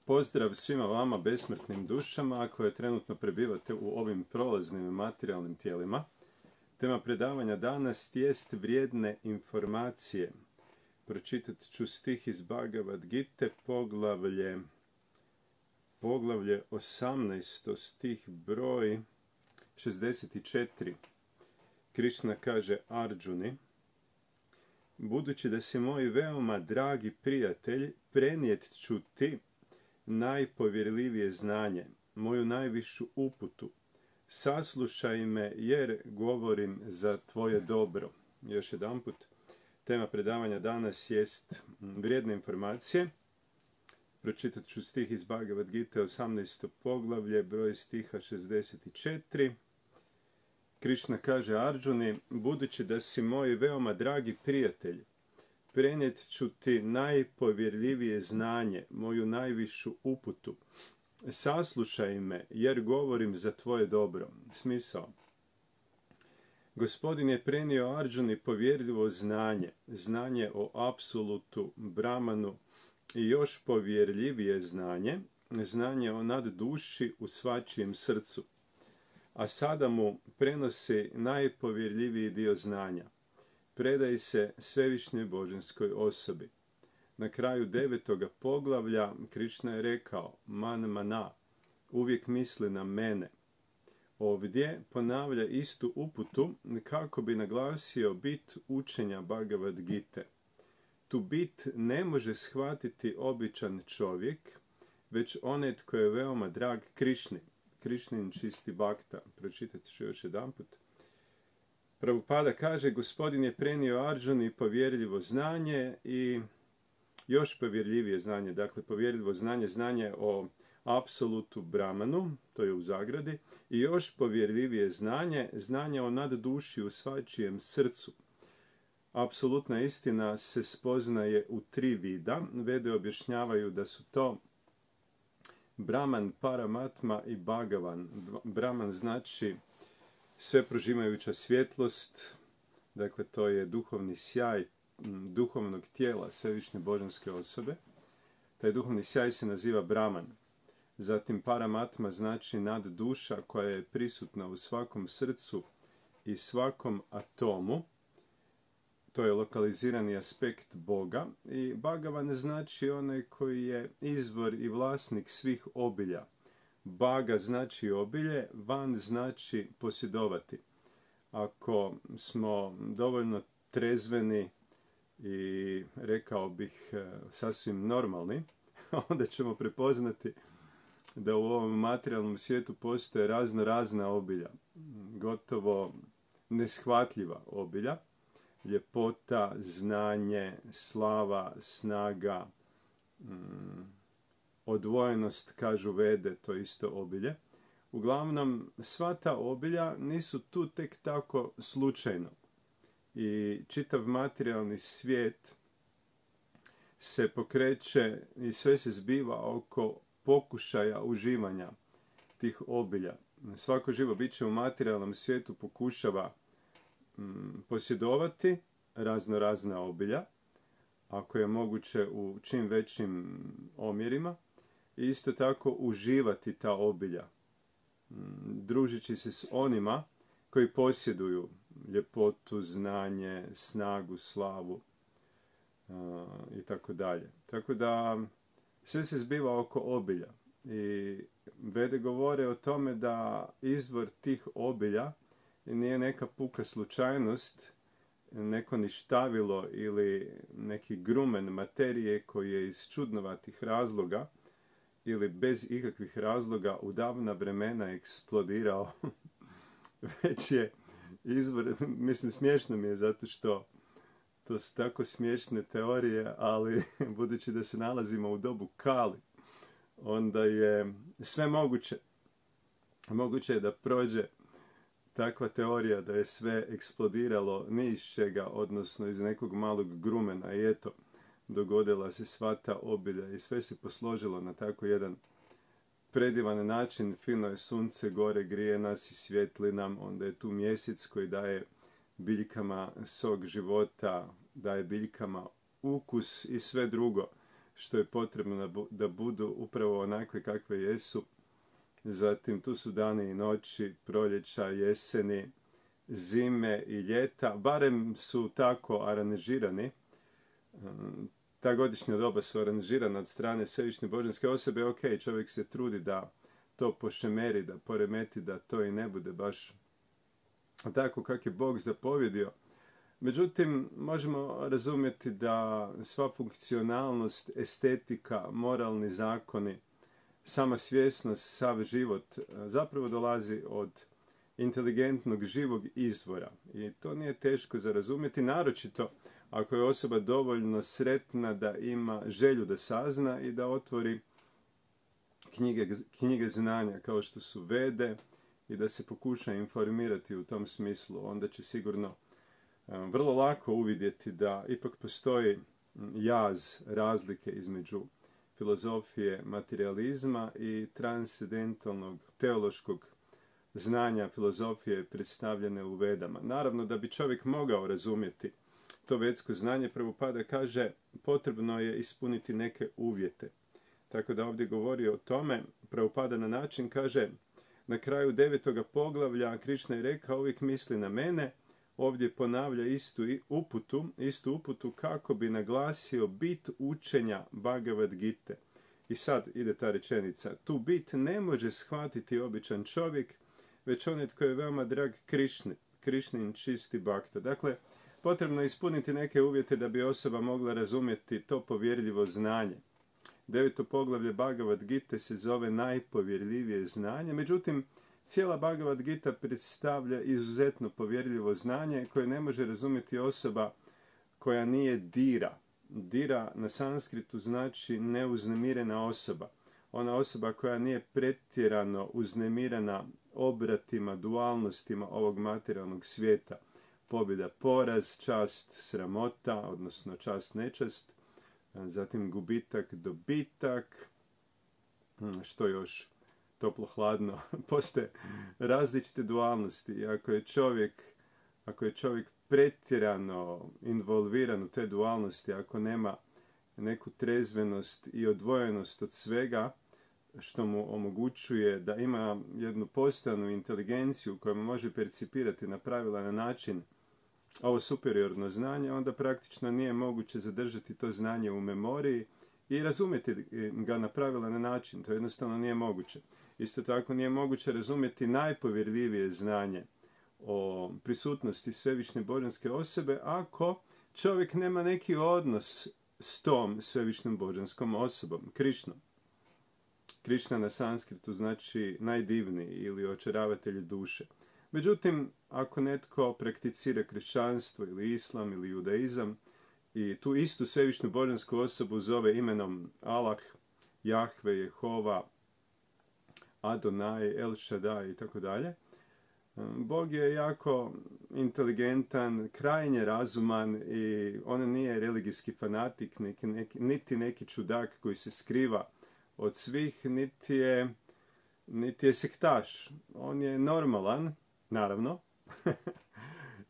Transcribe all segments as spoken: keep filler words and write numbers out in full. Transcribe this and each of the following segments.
Pozdrav svima vama besmrtnim dušama koje trenutno prebivate u ovim prolaznim materijalnim tijelima. Tema predavanja danas jest vrijedne informacije. Pročitat ću stih iz Bhagavad Gite, poglavlje, poglavlje osamnaest, stih broj šezdeset četiri. Krišna kaže Arjuni: budući da si moj veoma dragi prijatelj, prenijet ću ti najpovjerljivije znanje, moju najvišu uputu. Saslušaj me jer govorim za tvoje dobro. Još jedanput, tema predavanja danas jest vrijedne informacije. Pročitat ću stih iz Bhagavad Gite, osamnaesto poglavlje, broj stiha šezdeset četiri. Krišna kaže Arjuni: budući da si moj veoma dragi prijatelj, prenijet ću ti najpovjerljivije znanje, moju najvišu uputu. Saslušaj me, jer govorim za tvoje dobro. Smisao. Gospodin je prenio Arjuni povjerljivo znanje, znanje o apsolutu, Brahmanu, i još povjerljivije znanje, znanje o nadduši u svačijem srcu. A sada mu prenosi najpovjerljiviji dio znanja. Predaj se svevišnjoj božanskoj osobi. Na kraju devetoga poglavlja Krišna je rekao: man mana, uvijek misli na mene. Ovdje ponavlja istu uputu kako bi naglasio bit učenja Bhagavad Gite. Tu bit ne može shvatiti običan čovjek, već onaj tko je veoma drag Krišni. Krišnin čisti bakta. Pročitat ću još jedanput. Prabhupada kaže: gospodin je prenio Arjuni povjerljivo znanje i još povjerljivije znanje, dakle povjerljivo znanje, znanje o apsolutu Brahmanu, to je u zagradi, i još povjerljivije znanje, znanje o nadduši u svačijem srcu. Apsolutna istina se spoznaje u tri vida. Vede objašnjavaju da su to Brahman, Paramatma i Bhagavan. Brahman znači sve prožimajuća svjetlost, dakle to je duhovni sjaj duhovnog tijela svevišnje božanske osobe. Taj duhovni sjaj se naziva Brahman. Zatim Paramatma znači nadduša koja je prisutna u svakom srcu i svakom atomu. To je lokalizirani aspekt Boga. I Bhagavan znači onaj koji je izvor i vlasnik svih obilja. Baga znači obilje, van znači posjedovati. Ako smo dovoljno trezveni i rekao bih sasvim normalni, onda ćemo prepoznati da u ovom materijalnom svijetu postoje razno razna obilja, gotovo neshvatljiva obilja, ljepota, znanje, slava, snaga, odvojenost, kažu Vede, to isto obilje. Uglavnom, sva ta obilja nisu tu tek tako slučajno. I čitav materijalni svijet se pokreće i sve se zbiva oko pokušaja uživanja tih obilja. Svako živo biće u materijalnom svijetu pokušava mm, posjedovati razno razna obilja, ako je moguće u čim većim omjerima, i isto tako uživati ta obilja, družići se s onima koji posjeduju ljepotu, znanje, snagu, slavu uh, i tako dalje. Tako da sve se zbiva oko obilja. I Vede govore o tome da izvor tih obilja nije neka puka slučajnost, neko ništavilo ili neki grumen materije koji je iz čudnovatih razloga ili bez ikakvih razloga u davna vremena eksplodirao, već je izvor, mislim smiješno mi je zato što to su tako smiješne teorije, ali budući da se nalazimo u dobu Kali, onda je sve moguće. Moguće je da prođe takva teorija da je sve eksplodiralo ni iz čega, odnosno iz nekog malog grumena, i eto, dogodila se sva ta obilja i sve se posložilo na tako jedan predivan način. Fino je sunce, gore grije nas i svijetli nam, onda je tu mjesec koji daje biljkama sok života, daje biljkama ukus i sve drugo. što je potrebno da budu upravo onakve kakve jesu. Zatim tu su dani i noći, proljeća, jeseni, zime i ljeta, barem su tako aranžirani. Ta godišnja doba su aranžirana od strane svevišnje božanske osobe. Ok, čovjek se trudi da to pošemeri, da poremeti, da to i ne bude baš tako kako je Bog zapovjedio. Međutim, možemo razumjeti da sva funkcionalnost, estetika, moralni zakoni, sama svjesnost, sav život zapravo dolazi od inteligentnog živog izvora. I to nije teško za razumjeti, naročito ako je osoba dovoljno sretna da ima želju da sazna i da otvori knjige, knjige znanja kao što su Vede i da se pokuša informirati u tom smislu. Onda će sigurno vrlo lako uvidjeti da ipak postoji jaz, razlike između filozofije materializma i transcendentalnog teološkog znanja filozofije predstavljene u Vedama. Naravno, da bi čovjek mogao razumjeti to vedsko znanje, Prabhupada kaže, potrebno je ispuniti neke uvjete. Tako da ovdje govori o tome, Prabhupada na način kaže, na kraju devetoga poglavlja Krišna je rekao, uvijek misli na mene, ovdje ponavlja istu uputu, istu uputu kako bi naglasio bit učenja Bhagavad Gite. I sad ide ta rečenica, tu bit ne može shvatiti običan čovjek, već onaj tko je veoma drag Krišni, Krišnin čisti bhakta. Dakle, potrebno je ispuniti neke uvjete da bi osoba mogla razumjeti to povjerljivo znanje. Deveto poglavlje Bhagavad Gite se zove najpovjerljivije znanje, međutim, cijela Bhagavad Gita predstavlja izuzetno povjerljivo znanje koje ne može razumjeti osoba koja nije dira. Dira na sanskritu znači neuznemirena osoba. Ona osoba koja nije pretjerano uznemirena obratima, dualnostima ovog materijalnog svijeta. Pobjeda, poraz, čast, sramota, odnosno čast, nečast, zatim gubitak, dobitak, što još toplo, hladno, postoje različite dualnosti. I ako je čovjek, ako je čovjek pretjerano involviran u te dualnosti, ako nema neku trezvenost i odvojenost od svega, što mu omogućuje da ima jednu postojanu inteligenciju koja mu može percipirati na pravilan način ovo superiorno znanje, onda praktično nije moguće zadržati to znanje u memoriji i razumjeti ga na pravilan način. To jednostavno nije moguće. Isto tako nije moguće razumjeti najpovjerljivije znanje o prisutnosti svevišnje božanske osobe ako čovjek nema neki odnos s tom svevišnjom božanskom osobom, Krišnom. Krišna na sanskritu znači najdivniji ili očaravatelj duše. Međutim, ako netko prakticira kršćanstvo ili islam ili judaizam i tu istu svevišnju božansku osobu zove imenom Allah, Jahve, Jehova, Adonai, El Shaddai i tako dalje, Bog je jako inteligentan, krajnje razuman i on nije religijski fanatik, neki, neki, niti neki čudak koji se skriva od svih, niti je, niti je sektaš. On je normalan, naravno,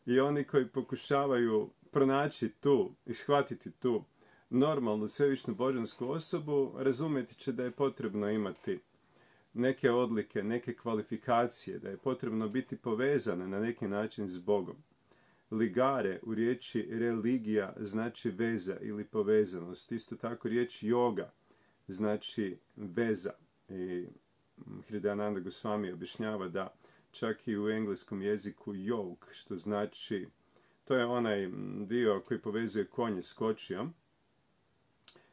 i oni koji pokušavaju pronaći tu i shvatiti tu normalnu svevišnju božansku osobu, razumjeti će da je potrebno imati neke odlike, neke kvalifikacije, da je potrebno biti povezan na neki način s Bogom. Ligare u riječi religija znači veza ili povezanost. Isto tako riječ yoga znači veza. I Hridayananda Goswami objašnjava da čak i u engleskom jeziku yoke, što znači, to je onaj dio koji povezuje konje s kočijom.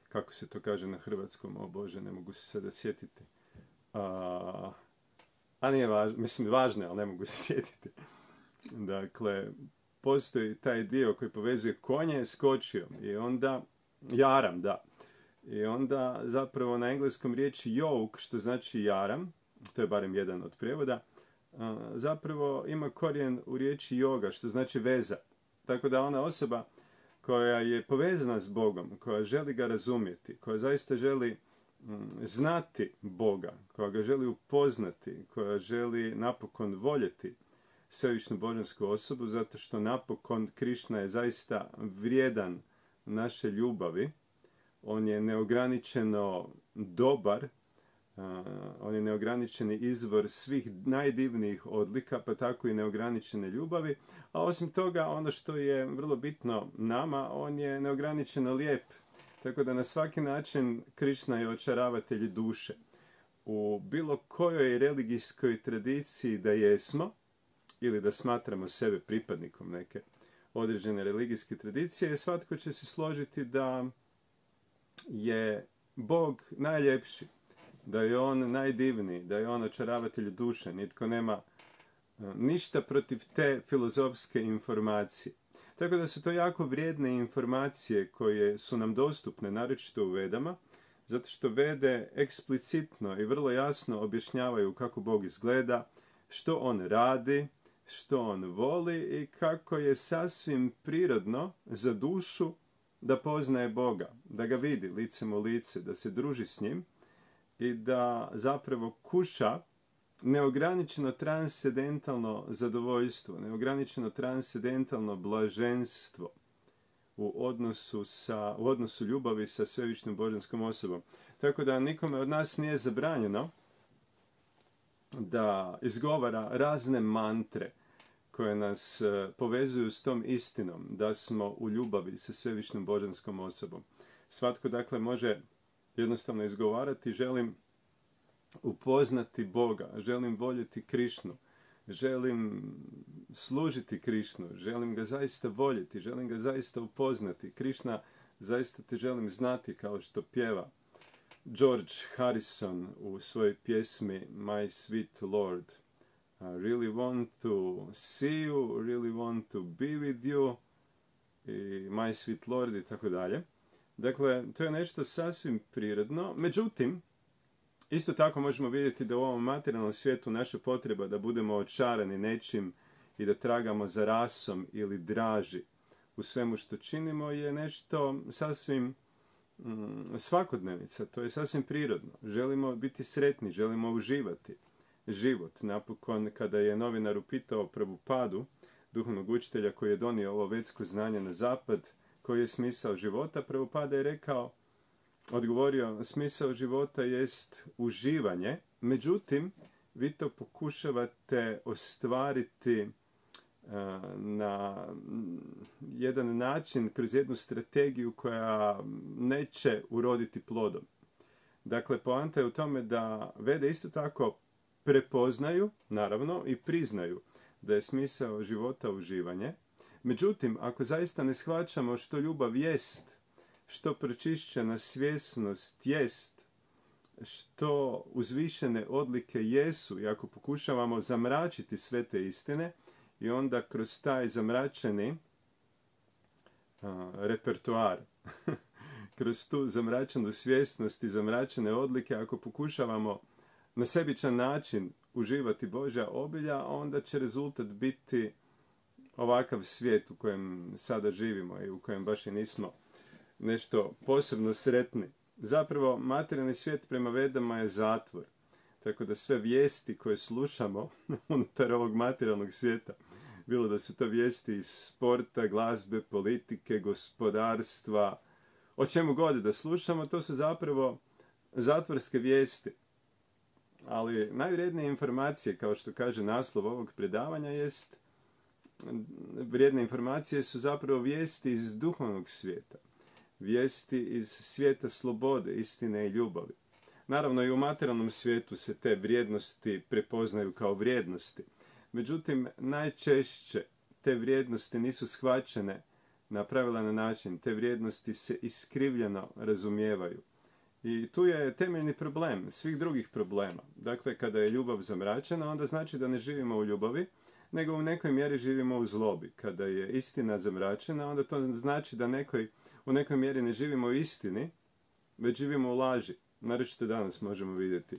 Kako se to kaže na hrvatskom? O Bože, ne mogu se sada sjetiti. A, a nije važno, mislim važno, ali ne mogu se sjetiti. Dakle, postoji taj dio koji povezuje konje s kočijom i onda, jaram, da. I onda zapravo na engleskom riječi yoke, što znači jaram, to je barem jedan od prijevoda, zapravo ima korijen u riječi yoga, što znači veza. Tako da ona osoba koja je povezana s Bogom, koja želi ga razumjeti, koja zaista želi znati Boga, koja ga želi upoznati, koja želi napokon voljeti svevišnju božansku osobu, zato što napokon Krišna je zaista vrijedan naše ljubavi, on je neograničeno dobar, uh, on je neograničeni izvor svih najdivnijih odlika, pa tako i neograničene ljubavi, a osim toga, ono što je vrlo bitno nama, on je neograničeno lijep, tako da na svaki način Krišna je očaravatelj duše. U bilo kojoj religijskoj tradiciji da jesmo, ili da smatramo sebe pripadnikom neke određene religijske tradicije, svatko će se složiti da je Bog najljepši, da je on najdivniji, da je on očaravatelj duše. Nitko nema ništa protiv te filozofske informacije. Tako da su to jako vrijedne informacije koje su nam dostupne, naročito u Vedama, zato što Vede eksplicitno i vrlo jasno objašnjavaju kako Bog izgleda, što on radi, što on voli i kako je sasvim prirodno za dušu da poznaje Boga, da ga vidi licem u lice, da se druži s njim i da zapravo kuša neograničeno transcendentalno zadovoljstvo, neograničeno transcendentalno blaženstvo u odnosu, sa, u odnosu ljubavi sa svevišnjom božanskom osobom. Tako da nikome od nas nije zabranjeno da izgovara razne mantre koje nas povezuju s tom istinom, da smo u ljubavi sa svevišnjom božanskom osobom. Svatko dakle može jednostavno izgovarati: želim upoznati Boga, želim voljeti Krišnu, želim služiti Krišnu, želim ga zaista voljeti, želim ga zaista upoznati. Krišna, zaista te želim znati, kao što pjeva George Harrison u svojoj pjesmi My Sweet Lord. I really want to see you, really want to be with you, i My Sweet Lord i tako dalje. Dakle, to je nešto sasvim prirodno. Međutim, isto tako možemo vidjeti da u ovom materijalnom svijetu naša potreba da budemo očarani nečim i da tragamo za rasom ili draži u svemu što činimo je nešto sasvim mm, svakodnevica. To je sasvim prirodno. Želimo biti sretni, želimo uživati život. Napokon, kada je novinar upitao Prabhupadu, duhovnog učitelja koji je donio ovo vedsko znanje na zapad, koji je smisao života, Prabhupada je rekao, odgovorio: smisao života jest uživanje, međutim, vi to pokušavate ostvariti uh, na jedan način, kroz jednu strategiju koja neće uroditi plodom. Dakle, poanta je u tome da Vede isto tako prepoznaju, naravno, i priznaju da je smisao života uživanje. Međutim, ako zaista ne shvaćamo što ljubav jest, što pročišćena svjesnost jest, što uzvišene odlike jesu, i ako pokušavamo zamračiti sve te istine i onda kroz taj zamračeni uh, repertoar, kroz tu zamračenu svjesnost i zamračene odlike, ako pokušavamo na sebičan način uživati Božja obilja, onda će rezultat biti ovakav svijet u kojem sada živimo i u kojem baš i nismo nešto posebno sretni. Zapravo, materijalni svijet prema Vedama je zatvor. Tako da sve vijesti koje slušamo unutar ovog materijalnog svijeta, bilo da su to vijesti iz sporta, glazbe, politike, gospodarstva, o čemu god da slušamo, to su zapravo zatvorske vijesti. Ali najvrijednije informacije, kao što kaže naslov ovog predavanja, jest vrijedne informacije su zapravo vijesti iz duhovnog svijeta. Vijesti iz svijeta slobode, istine i ljubavi. Naravno, i u materijalnom svijetu se te vrijednosti prepoznaju kao vrijednosti. Međutim, najčešće te vrijednosti nisu shvaćene na pravilan način. Te vrijednosti se iskrivljeno razumijevaju. I tu je temeljni problem svih drugih problema. Dakle, kada je ljubav zamračena, onda znači da ne živimo u ljubavi, nego u nekoj mjeri živimo u zlobi. Kada je istina zamračena, onda to znači da nekoj, u nekoj mjeri ne živimo u istini, već živimo u laži. Naročito danas možemo vidjeti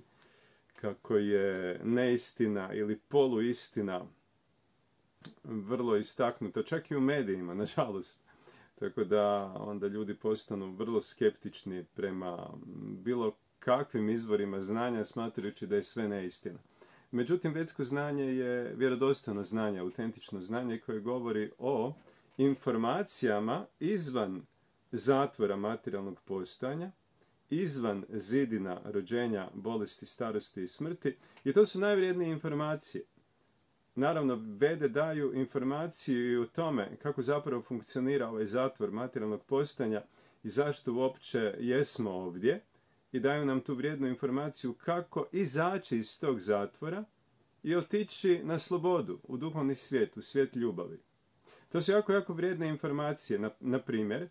kako je neistina ili poluistina vrlo istaknuta, čak i u medijima, nažalost. Tako da onda ljudi postanu vrlo skeptični prema bilo kakvim izvorima znanja, smatrajući da je sve neistina. Međutim, vedsko znanje je vjerodostojno znanje, autentično znanje koje govori o informacijama izvan zatvora materijalnog postojanja, izvan zidina rođenja, bolesti, starosti i smrti. I to su najvrijednije informacije. Naravno, Vede daju informaciju i o tome kako zapravo funkcionira ovaj zatvor materijalnog postojanja i zašto uopće jesmo ovdje. I daju nam tu vrijednu informaciju kako izaći iz tog zatvora i otići na slobodu, u duhovni svijet, u svijet ljubavi. To su jako, jako vrijedne informacije. Na, na primjer,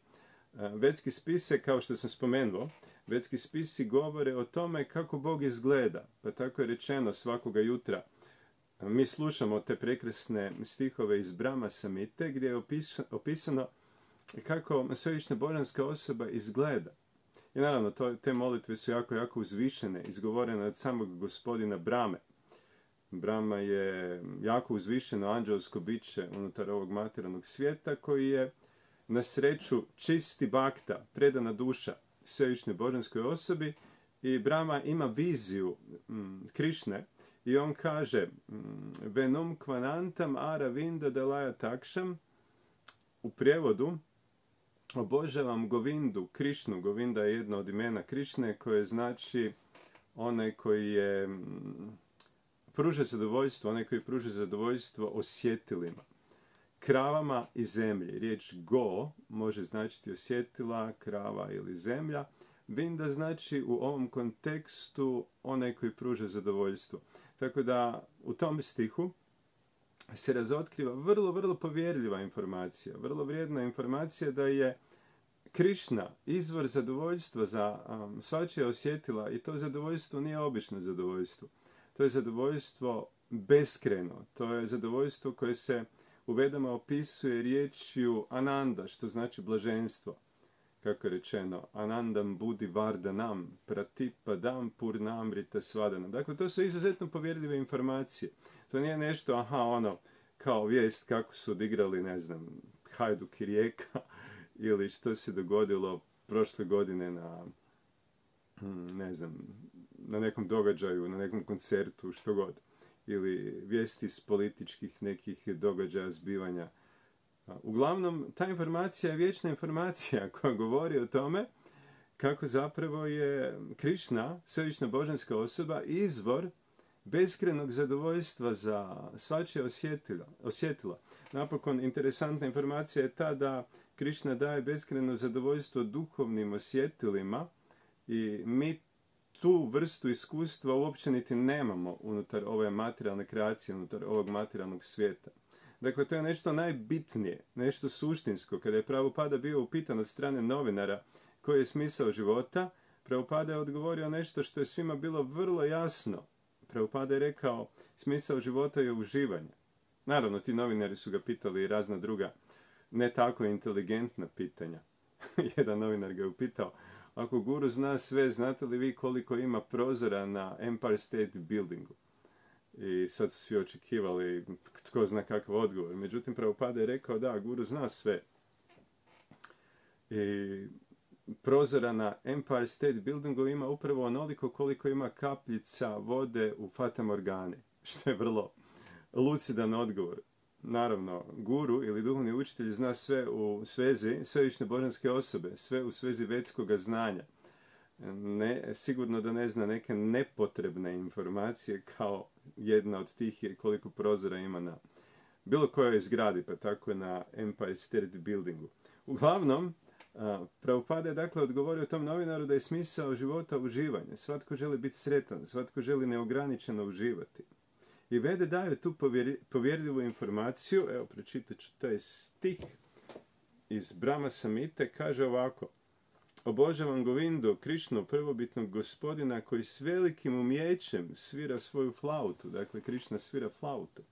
vedski spise, kao što sam spomenuo, vedski spisi govore o tome kako Bog izgleda. Pa tako je rečeno svakoga jutra. Mi slušamo te prekrasne stihove iz Brahma Samhite gdje je opisano kako svevišnja božanska osoba izgleda. I naravno, to, te molitve su jako, jako uzvišene, izgovorene od samog gospodina Brahme. Brahma je jako uzvišeno anđelsko biće unutar ovog materijalnog svijeta koji je na sreću čisti bhakta, predana duša svevišnjoj božanskoj osobi i Brahma ima viziju mm, Krišne i on kaže mm, Venum kvanantam aravinda dalaya takšam, u prijevodu obožavam Govindu, Krišnu. Govinda je jedno od imena Krišne koje znači onaj koji je mm, pruža zadovoljstvo, onaj koji pruža zadovoljstvo osjetilima. Kravama i zemlji. Riječ go može značiti osjetila, krava ili zemlja. Vinda znači u ovom kontekstu onaj koji pruža zadovoljstvo. Tako da u tom stihu se razotkriva vrlo, vrlo povjerljiva informacija, vrlo vrijedna informacija da je Krišna izvor zadovoljstva za um, svačija osjetila i to zadovoljstvo nije obično zadovoljstvo. To je zadovoljstvo beskreno, to je zadovoljstvo koje se u Vedama opisuje riječju ananda, što znači blaženstvo. Kako je rečeno, anandam budi vardanam, pratipadam purnamrita svadana. Dakle, to su izuzetno povjerljive informacije. To nije nešto, aha, ono, kao vijest kako su odigrali, ne znam, Hajduk i Rijeka, ili što se dogodilo prošle godine na, ne znam, na nekom događaju, na nekom koncertu, što god. Ili vijesti iz političkih nekih događaja, zbivanja. Uglavnom, ta informacija je vječna informacija koja govori o tome kako zapravo je Krišna, svevišnja božanska osoba, izvor beskrenog zadovoljstva za svačija osjetila, osjetila. Napokon, interesantna informacija je ta da Krišna daje beskreno zadovoljstvo duhovnim osjetilima i mi tu vrstu iskustva uopće niti nemamo unutar ove materijalne kreacije, unutar ovog materijalnog svijeta. Dakle, to je nešto najbitnije, nešto suštinsko. Kada je Prabhupada bio upitan od strane novinara koji je smisao života, Prabhupada je odgovorio nešto što je svima bilo vrlo jasno. Prabhupada je rekao, smisao života je uživanje. Naravno, ti novinari su ga pitali i razna druga, ne tako inteligentna pitanja. Jedan novinar ga je upitao, ako guru zna sve, znate li vi koliko ima prozora na Empire State Buildingu? I sad su svi očekivali tko zna kakav odgovor. Međutim, Prabhupada je rekao, da, guru zna sve. I prozora na Empire State Buildingu ima upravo onoliko koliko ima kapljica vode u Fata Morgani, što je vrlo lucidan odgovor. Naravno, guru ili duhovni učitelj zna sve u svezi svevišnje božanske osobe, sve u svezi vedskoga znanja. Ne, sigurno da ne zna neke nepotrebne informacije, kao jedna od tih je koliko prozora ima na bilo kojoj zgradi, pa tako na Empire State Buildingu. Uglavnom, Prabhupada je dakle odgovorio tom novinaru da je smisao života uživanje. Svatko želi biti sretan, svatko želi neograničeno uživati. I Vede daju tu povjeri, povjerljivu informaciju, evo pročitat ću taj stih iz Brahma Samhite, kaže ovako: obožavam Govindu, Krišnu, prvobitnog gospodina koji s velikim umijećem svira svoju flautu, dakle Krišna svira flautu,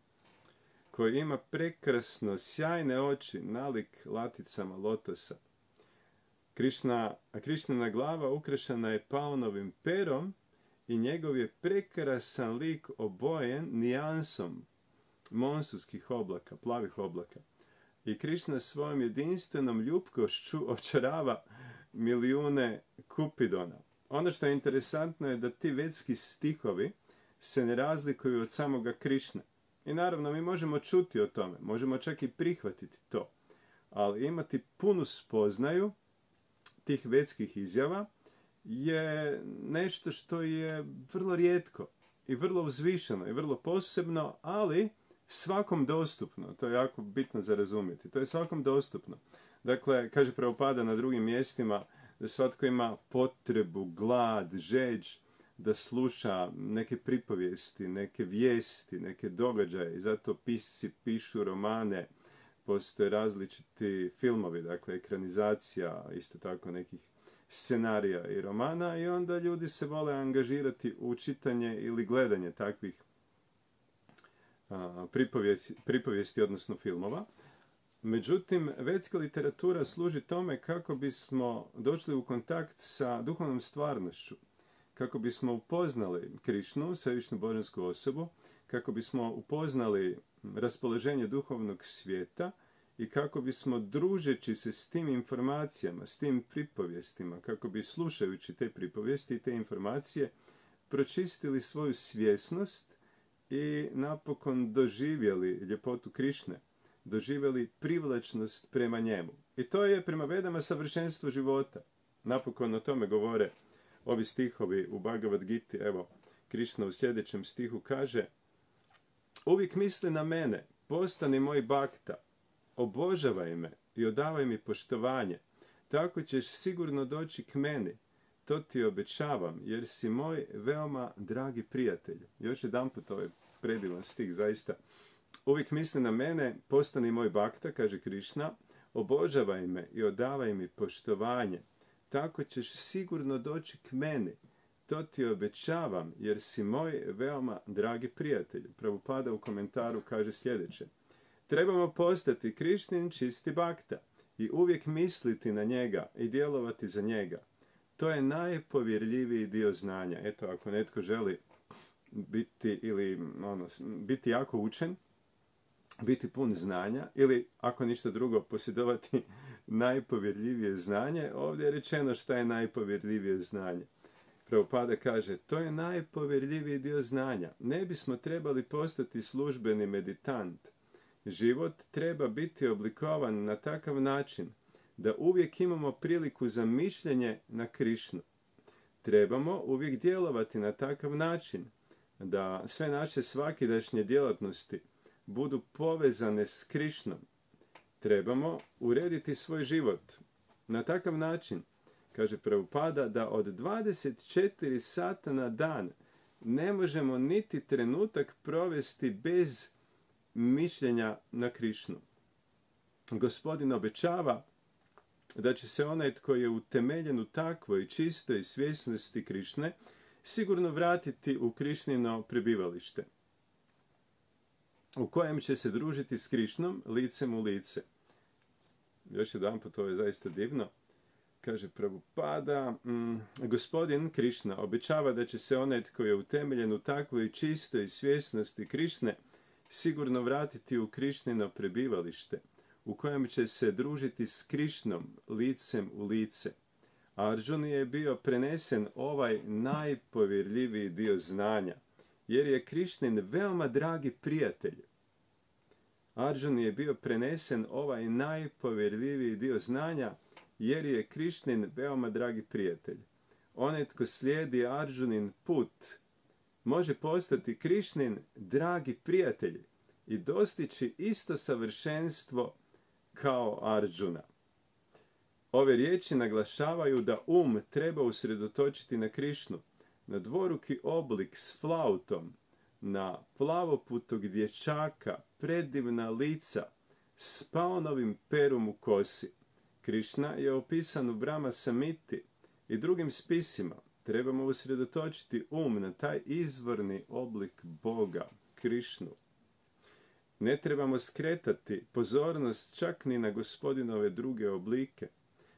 koji ima prekrasno sjajne oči, nalik laticama lotosa. Krišna, a Krišnina glava ukrašena je paunovim perom i njegov je prekrasan lik obojen nijansom monsunskih oblaka, plavih oblaka. I Krišna svojom jedinstvenom ljupkošću očarava milijune kupidona. Ono što je interesantno je da ti vedski stihovi se ne razlikuju od samoga Krišne. I naravno mi možemo čuti o tome, možemo čak i prihvatiti to. Ali imati punu spoznaju tih vetskih izjava je nešto što je vrlo rijetko i vrlo uzvišeno i vrlo posebno, ali svakom dostupno. To je jako bitno za razumjeti. To je svakom dostupno. Dakle, kaže Prabhupada na drugim mjestima da svatko ima potrebu, glad, žeđ da sluša neke pripovijesti, neke vijesti, neke događaje. I zato pisci pišu romane, postoje različiti filmovi, dakle ekranizacija, isto tako nekih scenarija i romana, i onda ljudi se vole angažirati u čitanje ili gledanje takvih a, pripovijesti, pripovijesti, odnosno filmova. Međutim, vetska literatura služi tome kako bismo došli u kontakt sa duhovnom stvarnošću, kako bismo upoznali Krišnu, svevišnju božansku osobu, kako bismo upoznali raspoloženje duhovnog svijeta i kako bismo, družeći se s tim informacijama, s tim pripovijestima, kako bi slušajući te pripovijesti i te informacije pročistili svoju svjesnost i napokon doživjeli ljepotu Krišne, doživjeli privlačnost prema njemu. I to je prema Vedama savršenstvo života. Napokon o tome govore ovi stihovi u Bhagavad Giti. Evo, Krišna u sljedećem stihu kaže: uvijek misli na mene, postani moj bakta, obožavaj me i odavaj mi poštovanje, tako ćeš sigurno doći k meni, to ti obećavam, jer si moj veoma dragi prijatelj. Još jedanput ovaj predivan stih, zaista. Uvijek misli na mene, postani moj bakta, kaže Krišna, obožavaj me i odavaj mi poštovanje, tako ćeš sigurno doći k meni, to ti obećavam, jer si moj veoma dragi prijatelj. Prabhupada u komentaru kaže sljedeće: trebamo postati Krišnin čisti bakta i uvijek misliti na njega i djelovati za njega. To je najpovjerljiviji dio znanja. Eto, ako netko želi biti ili ono, biti jako učen, biti pun znanja, ili ako ništa drugo posjedovati najpovjerljivije znanje, ovdje je rečeno šta je najpovjerljivije znanje. Prabhupada kaže, to je najpovjerljiviji dio znanja. Ne bismo trebali postati službeni meditant. Život treba biti oblikovan na takav način da uvijek imamo priliku za mišljenje na Krišnu. Trebamo uvijek djelovati na takav način da sve naše svakidašnje djelatnosti budu povezane s Krišnom. Trebamo urediti svoj život na takav način, kaže Prabhupada, da od dvadeset četiri sata na dan ne možemo niti trenutak provesti bez mišljenja na Krišnu. Gospodin obećava da će se onaj tko je utemeljen u takvoj čistoj svjesnosti Krišne sigurno vratiti u Krišnino prebivalište, u kojem će se družiti s Krišnom licem u lice. Još jedan put, ovo je zaista divno. Kaže Prabhupada, mm, gospodin Krišna obećava da će se onaj tko je utemeljen u takvoj čistoj svjesnosti Krišne sigurno vratiti u Krišnino prebivalište, u kojem će se družiti s Krišnom licem u lice. Arjuni je bio prenesen ovaj najpovjerljiviji dio znanja, jer je Krišnin veoma dragi prijatelj. Arjuni je bio prenesen ovaj najpovjerljiviji dio znanja, jer je Krišnin veoma dragi prijatelj. Onaj tko slijedi Arjunin put može postati Krišnin dragi prijatelj i dostići isto savršenstvo kao Arjuna. Ove riječi naglašavaju da um treba usredotočiti na Krišnu, na dvoruki oblik s flautom, na plavoputog dječaka, predivna lica s paonovim perom u kosi. Krišna je opisan u Brahma Samiti i drugim spisima. Trebamo usredotočiti um na taj izvorni oblik Boga, Krišnu. Ne trebamo skretati pozornost čak ni na gospodinove druge oblike.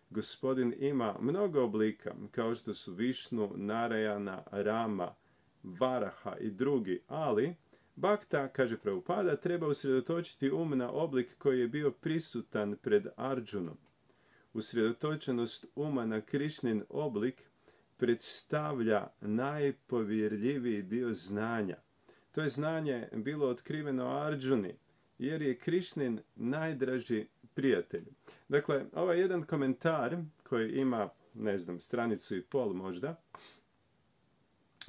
Gospodin ima mnogo oblika, kao što su Višnu, Narayana, Rama, Varaha i drugi, ali Bhakta, kaže Prabhupada, treba usredotočiti um na oblik koji je bio prisutan pred Arjunom. Usredotočenost uma na Krišnin oblik predstavlja najpovjerljiviji dio znanja. To je znanje bilo otkriveno Arjuni, jer je Krišnin najdraži prijatelj. Dakle, ovaj jedan komentar koji ima ne znam, stranicu i pol možda,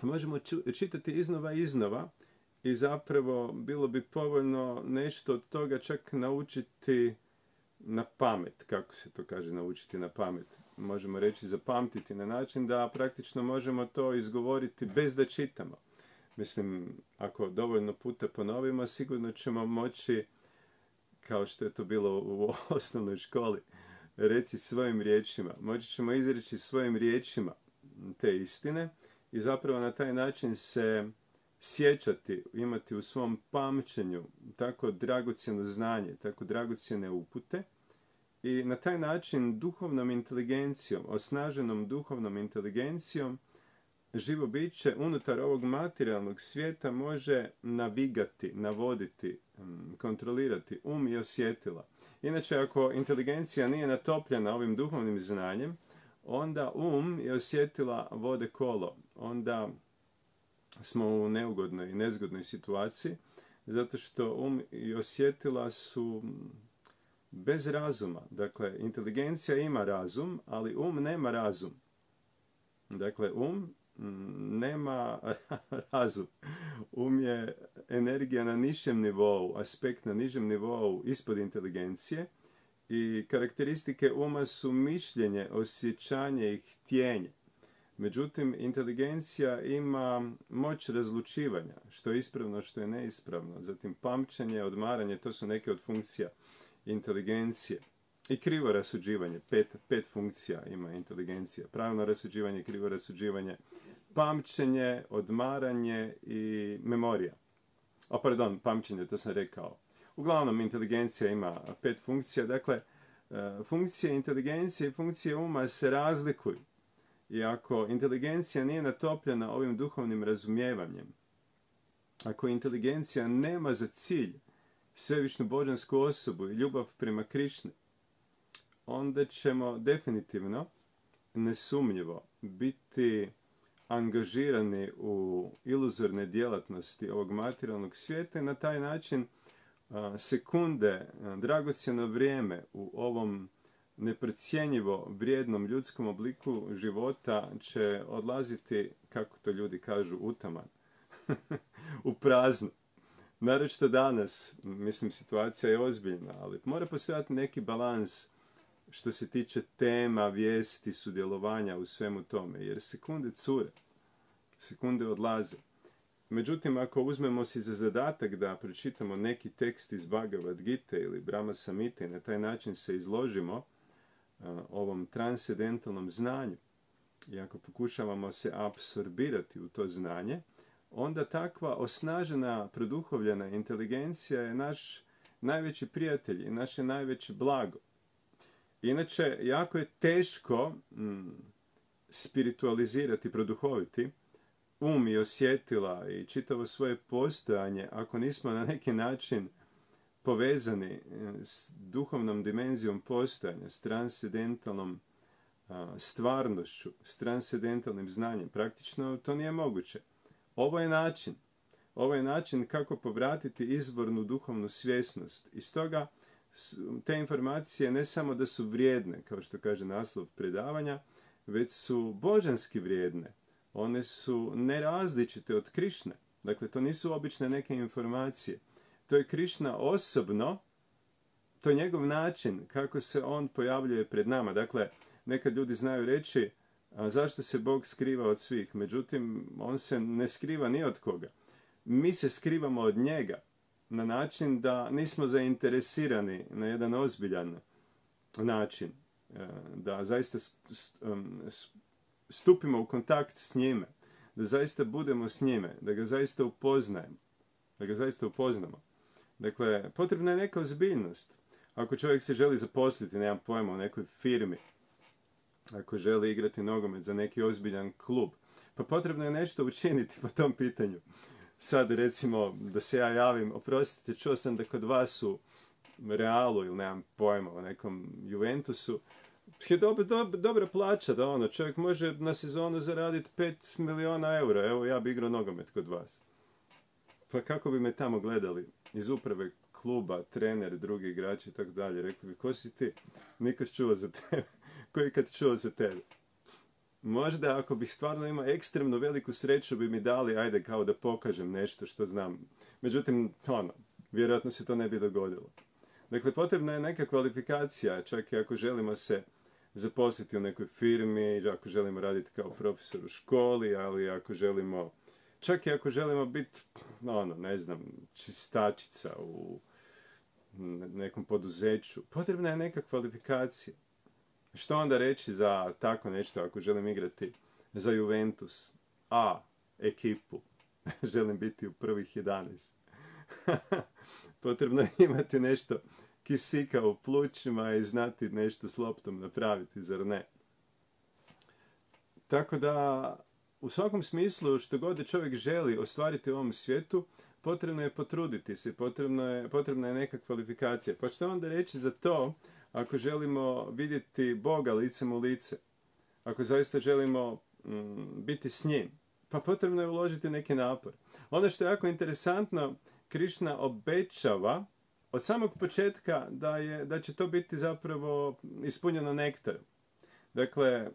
možemo čitati iznova i iznova i zapravo bilo bi povoljno nešto od toga čak naučiti na pamet, kako se to kaže naučiti na pamet. Možemo reći zapamtiti na način da praktično možemo to izgovoriti bez da čitamo. Mislim, ako dovoljno puta ponovimo, sigurno ćemo moći, kao što je to bilo u osnovnoj školi, reci svojim riječima. Moći ćemo izreći svojim riječima te istine i zapravo na taj način se sjećati, imati u svom pamćenju tako dragocjeno znanje, tako dragocjene upute i na taj način duhovnom inteligencijom, osnaženom duhovnom inteligencijom, živo biće unutar ovog materijalnog svijeta može navigati, navoditi, kontrolirati um i osjetila. Inače, ako inteligencija nije natopljena ovim duhovnim znanjem, onda um i osjetila vode kolo. Onda smo u neugodnoj i nezgodnoj situaciji, zato što um i osjetila su bez razuma. Dakle, inteligencija ima razum, ali um nema razum. Dakle, um nema razum. Um je energija na nižem nivou, aspekt na nižem nivou ispod inteligencije i karakteristike uma su mišljenje, osjećanje i htjenje. Međutim, inteligencija ima moć razlučivanja, što je ispravno, što je neispravno. Zatim, pamćenje, odmaranje, to su neke od funkcija inteligencije. I krivo rasuđivanje, pet, pet funkcija ima inteligencija. Pravilno rasuđivanje, krivo rasuđivanje, pamćenje, odmaranje i memorija. O, pardon, pamćenje, to sam rekao. Uglavnom, inteligencija ima pet funkcija. Dakle, funkcije inteligencije i funkcije uma se razlikuju. I ako inteligencija nije natopljena ovim duhovnim razumijevanjem, ako inteligencija nema za cilj svevišnju božansku osobu i ljubav prema Krišni, onda ćemo definitivno, nesumnjivo, biti angažirani u iluzorne djelatnosti ovog materijalnog svijeta i na taj način sekunde, dragocjeno vrijeme u ovom neprocjenjivo vrijednom ljudskom obliku života će odlaziti, kako to ljudi kažu, utaman, u prazno. Naročito danas, mislim, situacija je ozbiljna, ali mora postojati neki balans što se tiče tema, vijesti, sudjelovanja u svemu tome, jer sekunde cure, sekunde odlaze. Međutim, ako uzmemo si za zadatak da pročitamo neki tekst iz Bhagavad Gite ili Brahma Samhite i na taj način se izložimo uh, ovom transcendentalnom znanju i ako pokušavamo se apsorbirati u to znanje, onda takva osnažena, produhovljena inteligencija je naš najveći prijatelj i naše najveće blago. Inače, jako je teško mm, spiritualizirati, produhoviti um i osjetila i čitavo svoje postojanje ako nismo na neki način povezani s duhovnom dimenzijom postojanja, s transcendentalnom a, stvarnošću, s transcendentalnim znanjem. Praktično to nije moguće. Ovo je način. Ovo je način kako povratiti izvornu duhovnu svjesnost. I stoga te informacije ne samo da su vrijedne, kao što kaže naslov predavanja, već su božanski vrijedne. One su nerazličite od Krišne. Dakle, to nisu obične neke informacije. To je Krišna osobno, to je njegov način kako se on pojavljuje pred nama. Dakle, nekad ljudi znaju reći, a zašto se Bog skriva od svih? Međutim, on se ne skriva ni od koga. Mi se skrivamo od njega na način da nismo zainteresirani na jedan ozbiljan način. Da zaista stupimo u kontakt s njime. Da zaista budemo s njime. Da ga zaista upoznajemo. Da ga zaista upoznamo. Dakle, potrebna je neka ozbiljnost. Ako čovjek se želi zaposliti, nemam pojma, u nekoj firmi, ako želi igrati nogomet za neki ozbiljan klub, pa potrebno je nešto učiniti po tom pitanju. Sad, recimo, da se ja javim, oprostite, čuo sam da kod vas u Realu ili nemam pojma, u nekom Juventusu, je dobro, dobro, dobra plaća da ono, čovjek može na sezonu zaraditi pet milijuna eura, evo ja bi igrao nogomet kod vas. Pa kako bi me tamo gledali iz uprave kluba, trener, drugi igrači i tako dalje, rekli bi, ko si ti? Nikad čuo za tebe. Ko je kad čuo za tebe? Možda ako bih stvarno imao ekstremno veliku sreću bi mi dali, ajde, kao da pokažem nešto što znam. Međutim, ono, vjerojatno se to ne bi dogodilo. Dakle, potrebna je neka kvalifikacija, čak i ako želimo se zaposliti u nekoj firmi, ako želimo raditi kao profesor u školi, ali ako želimo, čak i ako želimo biti, ono, ne znam, čistačica u nekom poduzeću, potrebna je neka kvalifikacija. Što onda reći za tako nešto ako želim igrati za Juventus A ekipu? Želim biti u prvih jedanaest. Potrebno je imati nešto kisika u plućima i znati nešto s loptom napraviti, zar ne? Tako da, u svakom smislu, što god čovjek želi ostvariti u ovom svijetu, potrebno je potruditi se, potrebno je, potrebna je neka kvalifikacija. Pa što onda reći za to, ako želimo vidjeti Boga licem u lice, ako zaista želimo mm, biti s njim, pa potrebno je uložiti neki napor. Ono što je jako interesantno, Krišna obećava od samog početka da, je, da će to biti zapravo ispunjeno nektarom. Dakle,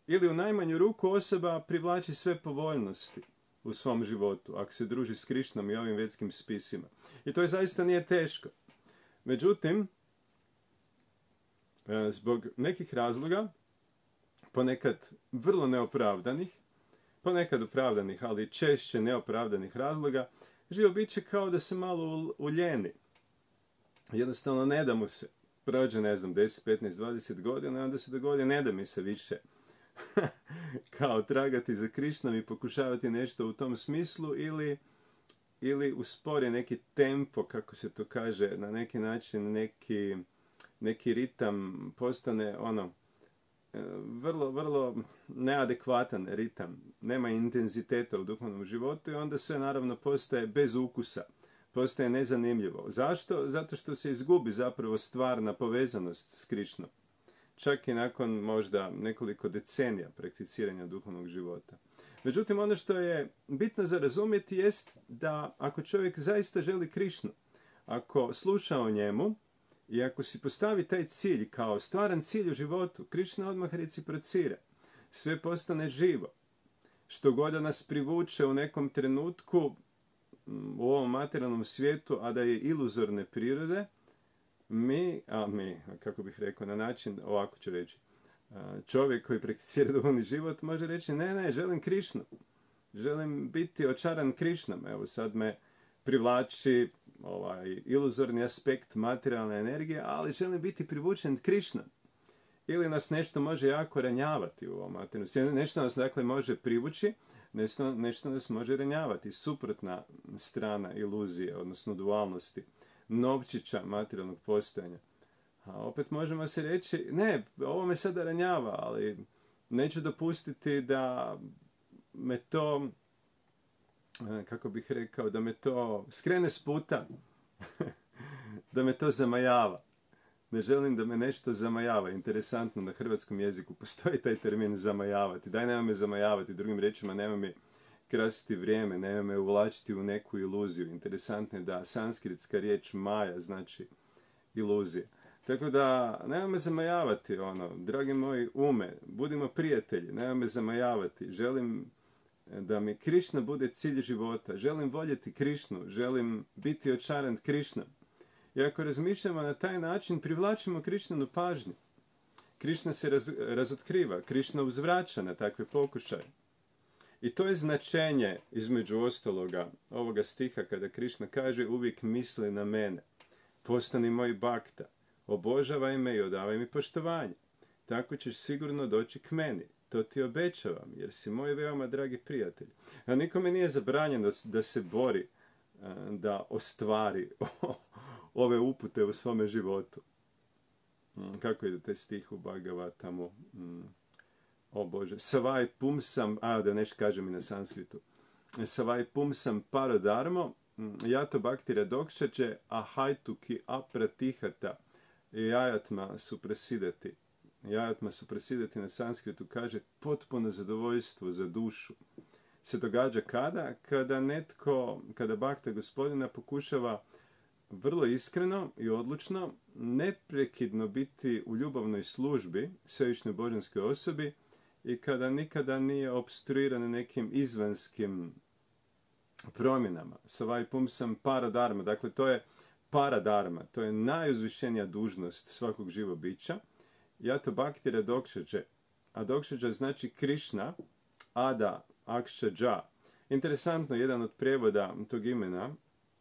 ili u najmanju ruku osoba privlači sve povoljnosti u svom životu, ako se druži s Krišnom i ovim vetskim spisima. I to je zaista nije teško. Međutim, zbog nekih razloga, ponekad vrlo neopravdanih, ponekad opravdanih, ali češće neopravdanih razloga, živo biće kao da se malo uljeni. Jednostavno ne da mu se. Prođe, ne znam, deset, petnaest, dvadeset godina i onda se dogodi ne da mi se više kao tragati za Krišnom i pokušavati nešto u tom smislu ili, ili uspori neki tempo, kako se to kaže, na neki način neki, neki ritam postane ono vrlo, vrlo neadekvatan ritam. Nema intenziteta u duhovnom životu i onda sve naravno postaje bez ukusa. Postaje nezanimljivo. Zašto? Zato što se izgubi zapravo stvarna povezanost s Krišnom. Čak i nakon možda nekoliko decenija prakticiranja duhovnog života. Međutim, ono što je bitno za razumjeti jest da ako čovjek zaista želi Krišnu, ako sluša o njemu i ako si postavi taj cilj kao stvaran cilj u životu, Krišna odmah reciprocira. Sve postane živo. Što god da nas privuče u nekom trenutku u ovom materijalnom svijetu, a da je iluzorne prirode, mi, a mi, kako bih rekao, na način, ovako ću reći, čovjek koji prakticira duhovni život može reći, ne, ne, želim Krišnu. Želim biti očaran Krišnom. Evo sad me privlači ovaj iluzorni aspekt materijalne energije, ali želim biti privučen Krišnom. Ili nas nešto može jako ranjavati u ovom materijalnom svijetu. Nešto nas dakle može privući, nešto, nešto nas može ranjavati. Suprotna strana iluzije, odnosno dualnosti, novčića materijalnog postojanja. A opet možemo se reći, ne, ovo me sada ranjava, ali neću dopustiti da me to, kako bih rekao, da me to skrene s puta, da me to zamajava. Ne želim da me nešto zamajava. Interesantno, na hrvatskom jeziku postoji taj termin zamajavati. Daj, nema me zamajavati, drugim riječima, nema mi krasiti vrijeme, nema me uvlačiti u neku iluziju. Interesantno je da sanskritska riječ maja znači iluzija. Tako da, nema me zamajavati, ono, dragi moji ume, budimo prijatelji, nema me zamajavati. Želim da mi Krišna bude cilj života, želim voljeti Krišnu, želim biti očaran Krišnom. I ako razmišljamo na taj način, privlačimo Krišninu pažnju. Krišna se raz, razotkriva, Krišna uzvraća na takve pokušaje. I to je značenje, između ostaloga, ovoga stiha kada Krišna kaže uvijek misli na mene. Postani moj bakta, obožavaj me i odavaj mi poštovanje. Tako ćeš sigurno doći k meni. To ti obećavam, jer si moj veoma dragi prijatelj. A nikome nije zabranjeno da se bori, da ostvari ove upute u svome životu. Kako ide taj stih u Bhagavatamu? O Bože, savai pumsam, a da nešto kažem i na sanskritu. Savai pumsam paradharmo, jato bhaktira dokšače, ahajtu ki apratihata, jajatma suprasidati. Jajatma suprasidati na sanskritu kaže potpuno zadovoljstvo za dušu. Se događa kada? Kada netko, kada bhakta gospodina pokušava vrlo iskreno i odlučno, neprekidno biti u ljubavnoj službi svevišnjoj božanskoj osobi i kada nikada nije opstruiran nekim izvanskim promjenama. Savai pumsam paradarma, dakle to je paradarma, to je najuzvišenija dužnost svakog živog bića. Jato bhakti radokšađe. Adokšađa znači Krišna, Ada Akšađa. Interesantno, jedan od prijevoda tog imena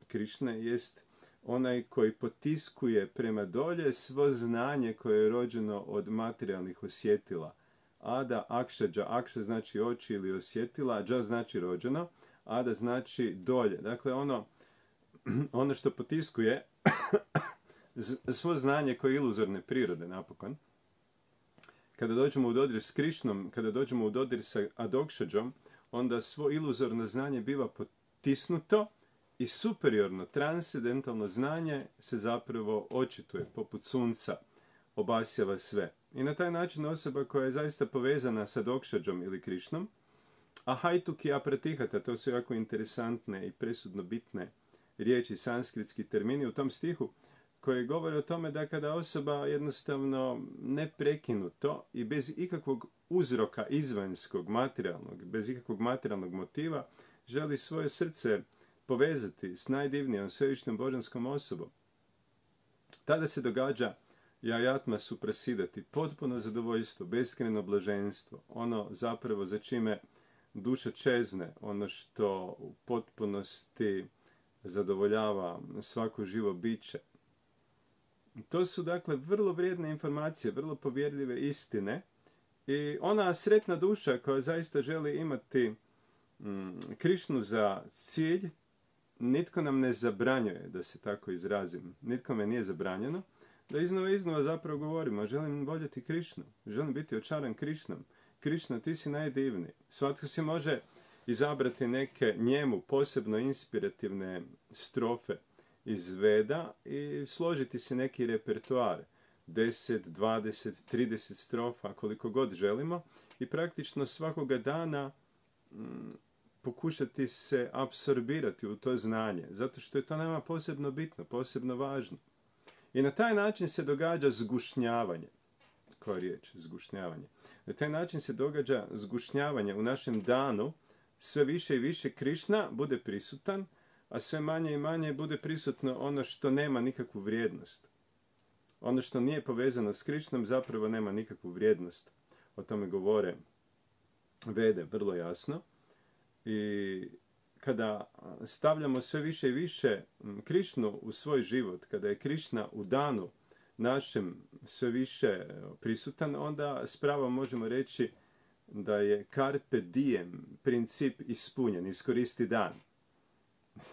Krišne jest onaj koji potiskuje prema dolje svo znanje koje je rođeno od materijalnih osjetila. Ada Akšađa. Akša znači oči ili osjetila, dža znači rođeno, Ada znači dolje. Dakle, ono, ono što potiskuje svo znanje koje je iluzorne prirode, napokon. Kada dođemo u dodir s Krišnom, kada dođemo u dodir sa Adokšađom, onda svo iluzorno znanje biva potisnuto i superiorno, transcendentalno znanje se zapravo očituje, poput sunca, obasjava sve. I na taj način osoba koja je zaista povezana sa Adokšađom ili Krišnom, a hajtuki apratihata, to su jako interesantne i presudno bitne riječi, sanskritski termini u tom stihu, koji govore o tome da kada osoba jednostavno neprekinuto i bez ikakvog uzroka izvanjskog, materijalnog, bez ikakvog materijalnog motiva, želi svoje srce povezati s najdivnijom svevišnjom božanskom osobom, tada se događa jajatma suprasidati, potpuno zadovoljstvo, beskrajno blaženstvo, ono zapravo za čime duša čezne, ono što u potpunosti zadovoljava svako živo biće. To su dakle vrlo vrijedne informacije, vrlo povjerljive istine i ona sretna duša koja zaista želi imati mm, Krišnu za cilj, nitko nam ne zabranjuje, da se tako izrazim, nitko me nije zabranjeno, da iznova iznova zapravo govorimo, želim voljeti Krišnu, želim biti očaran Krišnom. Krišna, ti si najdivniji. Svatko si može izabrati neke njemu posebno inspirativne strofe iz Veda i složiti si neki repertoar, deset, dvadeset, trideset strofa, koliko god želimo, i praktično svakoga dana mm, pokušati se apsorbirati u to znanje, zato što je to nama posebno bitno, posebno važno. I na taj način se događa zgušnjavanje. Koja riječ? Zgušnjavanje. Na taj način se događa zgušnjavanje u našem danu, sve više i više Krišna bude prisutan, a sve manje i manje bude prisutno ono što nema nikakvu vrijednost. Ono što nije povezano s Krišnom zapravo nema nikakvu vrijednost. O tome govore Vede vrlo jasno. I kada stavljamo sve više i više Krišnu u svoj život, kada je Krišna u danu našem sve više prisutan, onda s pravom možemo reći da je carpe diem princip ispunjen, iskoristi dan.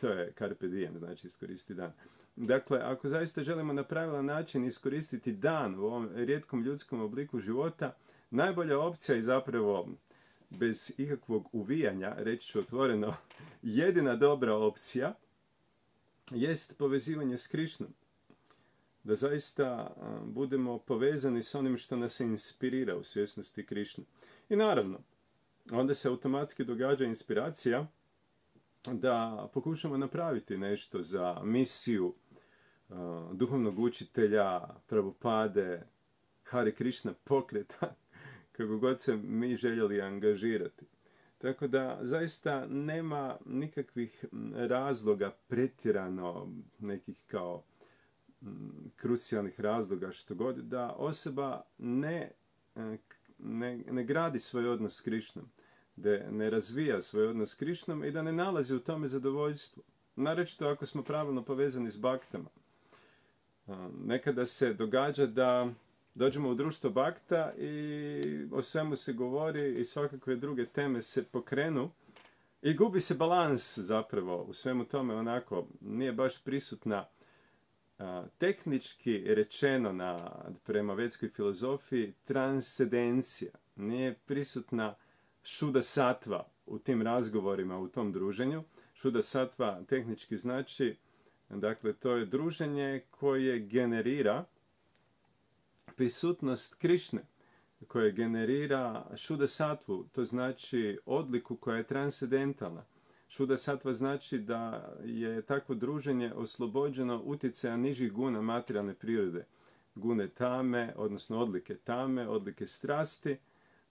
To je carpe diem, znači iskoristi dan. Dakle, ako zaista želimo na pravilan način iskoristiti dan u ovom rijetkom ljudskom obliku života, najbolja opcija je zapravo, bez ikakvog uvijanja, reći ću otvoreno, jedina dobra opcija jest povezivanje s Krišnom. Da zaista budemo povezani s onim što nas inspirira u svjesnosti Krišne. I naravno, onda se automatski događa inspiracija da pokušamo napraviti nešto za misiju uh, duhovnog učitelja, Prabhupade, Hare Krishna pokreta, kako god se mi željeli angažirati. Tako da zaista nema nikakvih razloga pretjerano, nekih kao m, krucijalnih razloga što god, da osoba ne, ne, ne gradi svoj odnos s Krišnom, da ne razvija svoj odnos s Krišnom i da ne nalazi u tome zadovoljstvo. Naročito ako smo pravilno povezani s baktama. Nekada se događa da dođemo u društvo bakta i o svemu se govori i svakakve druge teme se pokrenu i gubi se balans zapravo u svemu tome, onako nije baš prisutna a, tehnički rečeno na, prema vedskoj filozofiji transcendencija. Nije prisutna šuda satva u tim razgovorima, u tom druženju. Šuda satva tehnički znači, dakle, to je druženje koje generira prisutnost Krišne, koje generira šuda satvu, to znači odliku koja je transcendentalna. Šuda satva znači da je takvo druženje oslobođeno utjecaja nižih guna materijalne prirode. Gune tame, odnosno odlike tame, odlike strasti,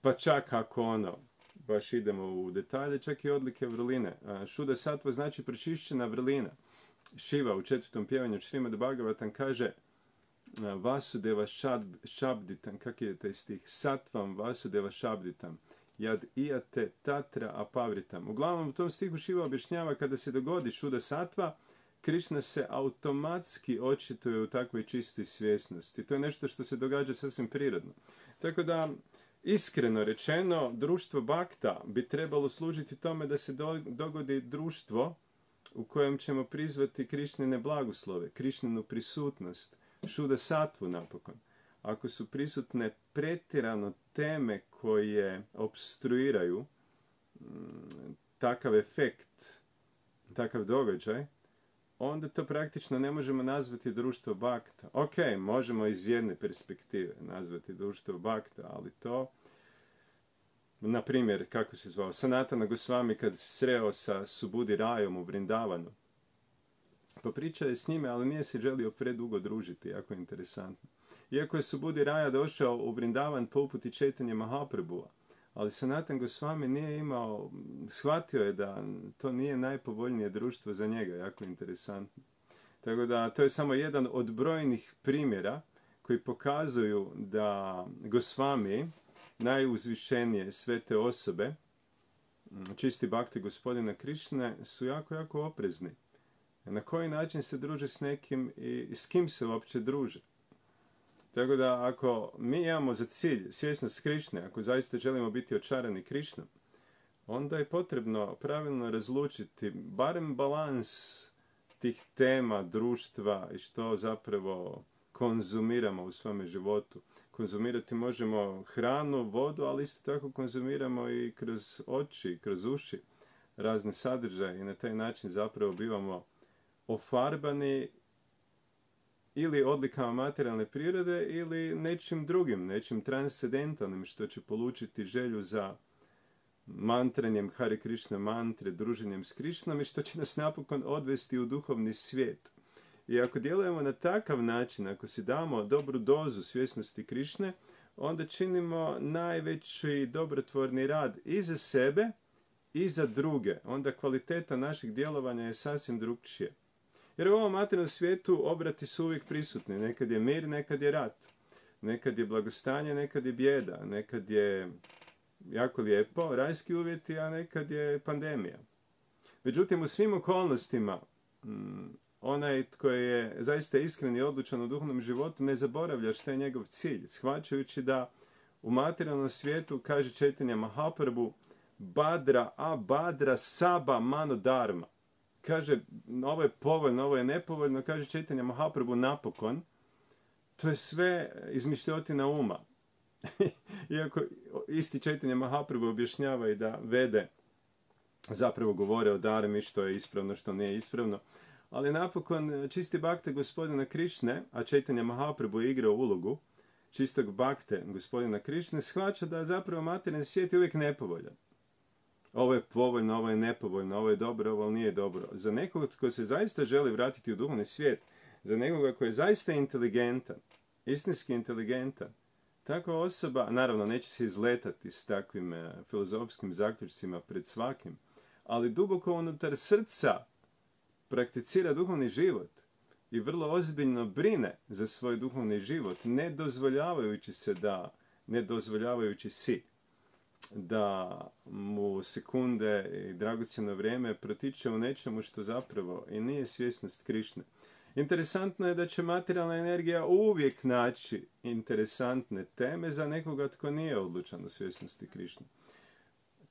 pa čak ako ono, baš idemo u detalje, čak i odlike vrline. Šuda sattva znači pročišćena vrlina. Šiva u četvrtom pjevanju Šrimad Bhagavatam kaže Vasudeva Šabditam, kak je taj stih? Sattvam Vasudeva Šabditam, jad ijate tatra apavritam. Uglavnom u tom stihu Šiva objašnjava kada se dogodi šuda sattva, Krišna se automatski očituje u takvoj čistoj svjesnosti. To je nešto što se događa sasvim prirodno. Tako da, iskreno rečeno, društvo Bhakta bi trebalo služiti tome da se dogodi društvo u kojem ćemo prizvati Krišnine blagoslove, Krišninu prisutnost, šuda sattvu napokon. Ako su prisutne pretjerano teme koje obstruiraju takav efekt, takav događaj, onda to praktično ne možemo nazvati društvo Bhakta. Ok, možemo iz jedne perspektive nazvati društvo Bhakta, ali to, na primjer, kako se zvao, Sanatana Gosvami kad se sreo sa Subudi Rajom u Vrindavanu, popričao je s njime, ali nije se želio predugo družiti, jako interesantno. Iako je Subudi Raja došao u Vrindavan po uputi Čaitanje Mahaprabhua, ali Sanatan Gosvami nije imao, shvatio je da to nije najpovoljnije društvo za njega, jako interesantno. Tako da to je samo jedan od brojnih primjera koji pokazuju da Gosvami, najuzvišenije svete osobe, čisti bhakti gospodina Krišne, su jako, jako oprezni. Na koji način se druže s nekim i s kim se uopće druže. Tako da ako mi imamo za cilj svjesnost Krišne, ako zaista želimo biti očarani Krišnom, onda je potrebno pravilno razlučiti barem balans tih tema društva i što zapravo konzumiramo u svome životu. Konzumirati možemo hranu, vodu, ali isto tako konzumiramo i kroz oči, kroz uši razne sadržaje i na taj način zapravo bivamo ofarbani ili odlikama materijalne prirode ili nečim drugim, nečim transcendentalnim što će polučiti želju za mantranjem Hare Krishna mantre, druženjem s Krišnom i što će nas napokon odvesti u duhovni svijet. I ako djelujemo na takav način, ako si damo dobru dozu svjesnosti Krišne, onda činimo najveći dobrotvorni rad i za sebe i za druge. Onda kvaliteta našeg djelovanja je sasvim drugčija. Jer u ovom materijalnom svijetu obrati su uvijek prisutni. Nekad je mir, nekad je rat. Nekad je blagostanje, nekad je bijeda. Nekad je jako lijepo, rajski uvjeti, a nekad je pandemija. Međutim, u svim okolnostima, onaj tko je zaista iskren i odlučan u duhovnom životu ne zaboravlja što je njegov cilj, shvaćajući da u materijalnom svijetu, kaže Čaitanja Mahaprabhu, badra a badra saba mano dharma. Kaže, ovo je povoljno, ovo je nepovoljno, kaže Čaitanja Mahaprabhu napokon, to je sve izmišljotina uma. Iako isti Čaitanja Mahaprabhu objašnjava i da Vede zapravo govore o dharmi, što je ispravno, što nije ispravno, ali napokon čisti bhakte gospodina Krišne, a Čaitanja Mahaprabhu je igrao ulogu čistog bhakte gospodina Krišne, shvaća da zapravo materijalni svijet je uvijek nepovoljan. Ovo je povoljno, ovo je nepovoljno, ovo je dobro, ovo nije dobro. Za nekoga tko se zaista želi vratiti u duhovni svijet, za nekoga koji je zaista inteligentan, istinski inteligentan, takva osoba, naravno neće se izletati s takvim e, filozofskim zaključcima pred svakim, ali duboko unutar srca prakticira duhovni život i vrlo ozbiljno brine za svoj duhovni život, ne dozvoljavajući se da, ne dozvoljavajući si, da mu sekunde i dragocjeno vrijeme protiče u nečemu što zapravo i nije svjesnost Krišne. Interesantno je da će materijalna energija uvijek naći interesantne teme za nekoga tko nije odlučan u svjesnosti Krišne.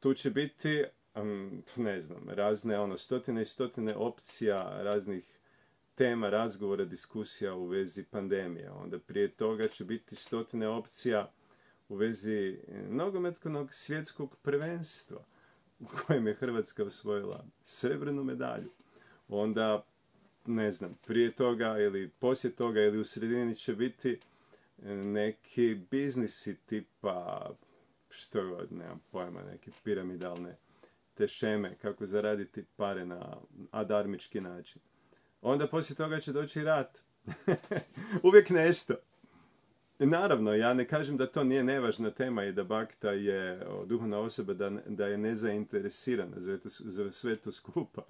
Tu će biti, um, ne znam, razne ono, stotine i stotine opcija, raznih tema, razgovora, diskusija u vezi pandemije. Onda prije toga će biti stotine opcija u vezi nogometnog svjetskog prvenstva u kojem je Hrvatska osvojila srebrnu medalju. Onda, ne znam, prije toga ili poslije toga ili u sredini će biti neki biznisi tipa, što god, nemam pojma, neke piramidalne tešeme, kako zaraditi pare na adarmički način. Onda poslije toga će doći rat. Uvijek nešto. I naravno, ja ne kažem da to nije nevažna tema i da Bhakta je o, duhovna osoba, da, da je nezainteresirana za, to, za sve to skupa.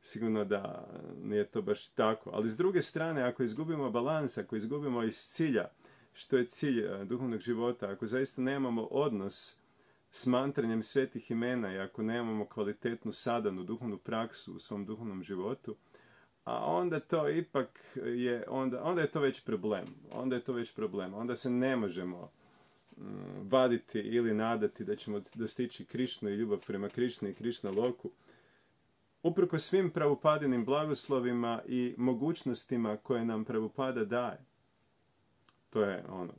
Sigurno da nije to baš tako. Ali s druge strane, ako izgubimo balans, ako izgubimo iz cilja, što je cilj duhovnog života, ako zaista nemamo odnos s mantranjem svetih imena i ako nemamo kvalitetnu sadanu duhovnu praksu u svom duhovnom životu, a onda to ipak je, onda, onda je to već problem. Onda je to već problem. Onda se ne možemo mm, vaditi ili nadati da ćemo dostići Krišnu i ljubav prema Krišni i Krišna loku. Uprkos svim Prabhupadinim blagoslovima i mogućnostima koje nam Prabhupada daje. To je ono,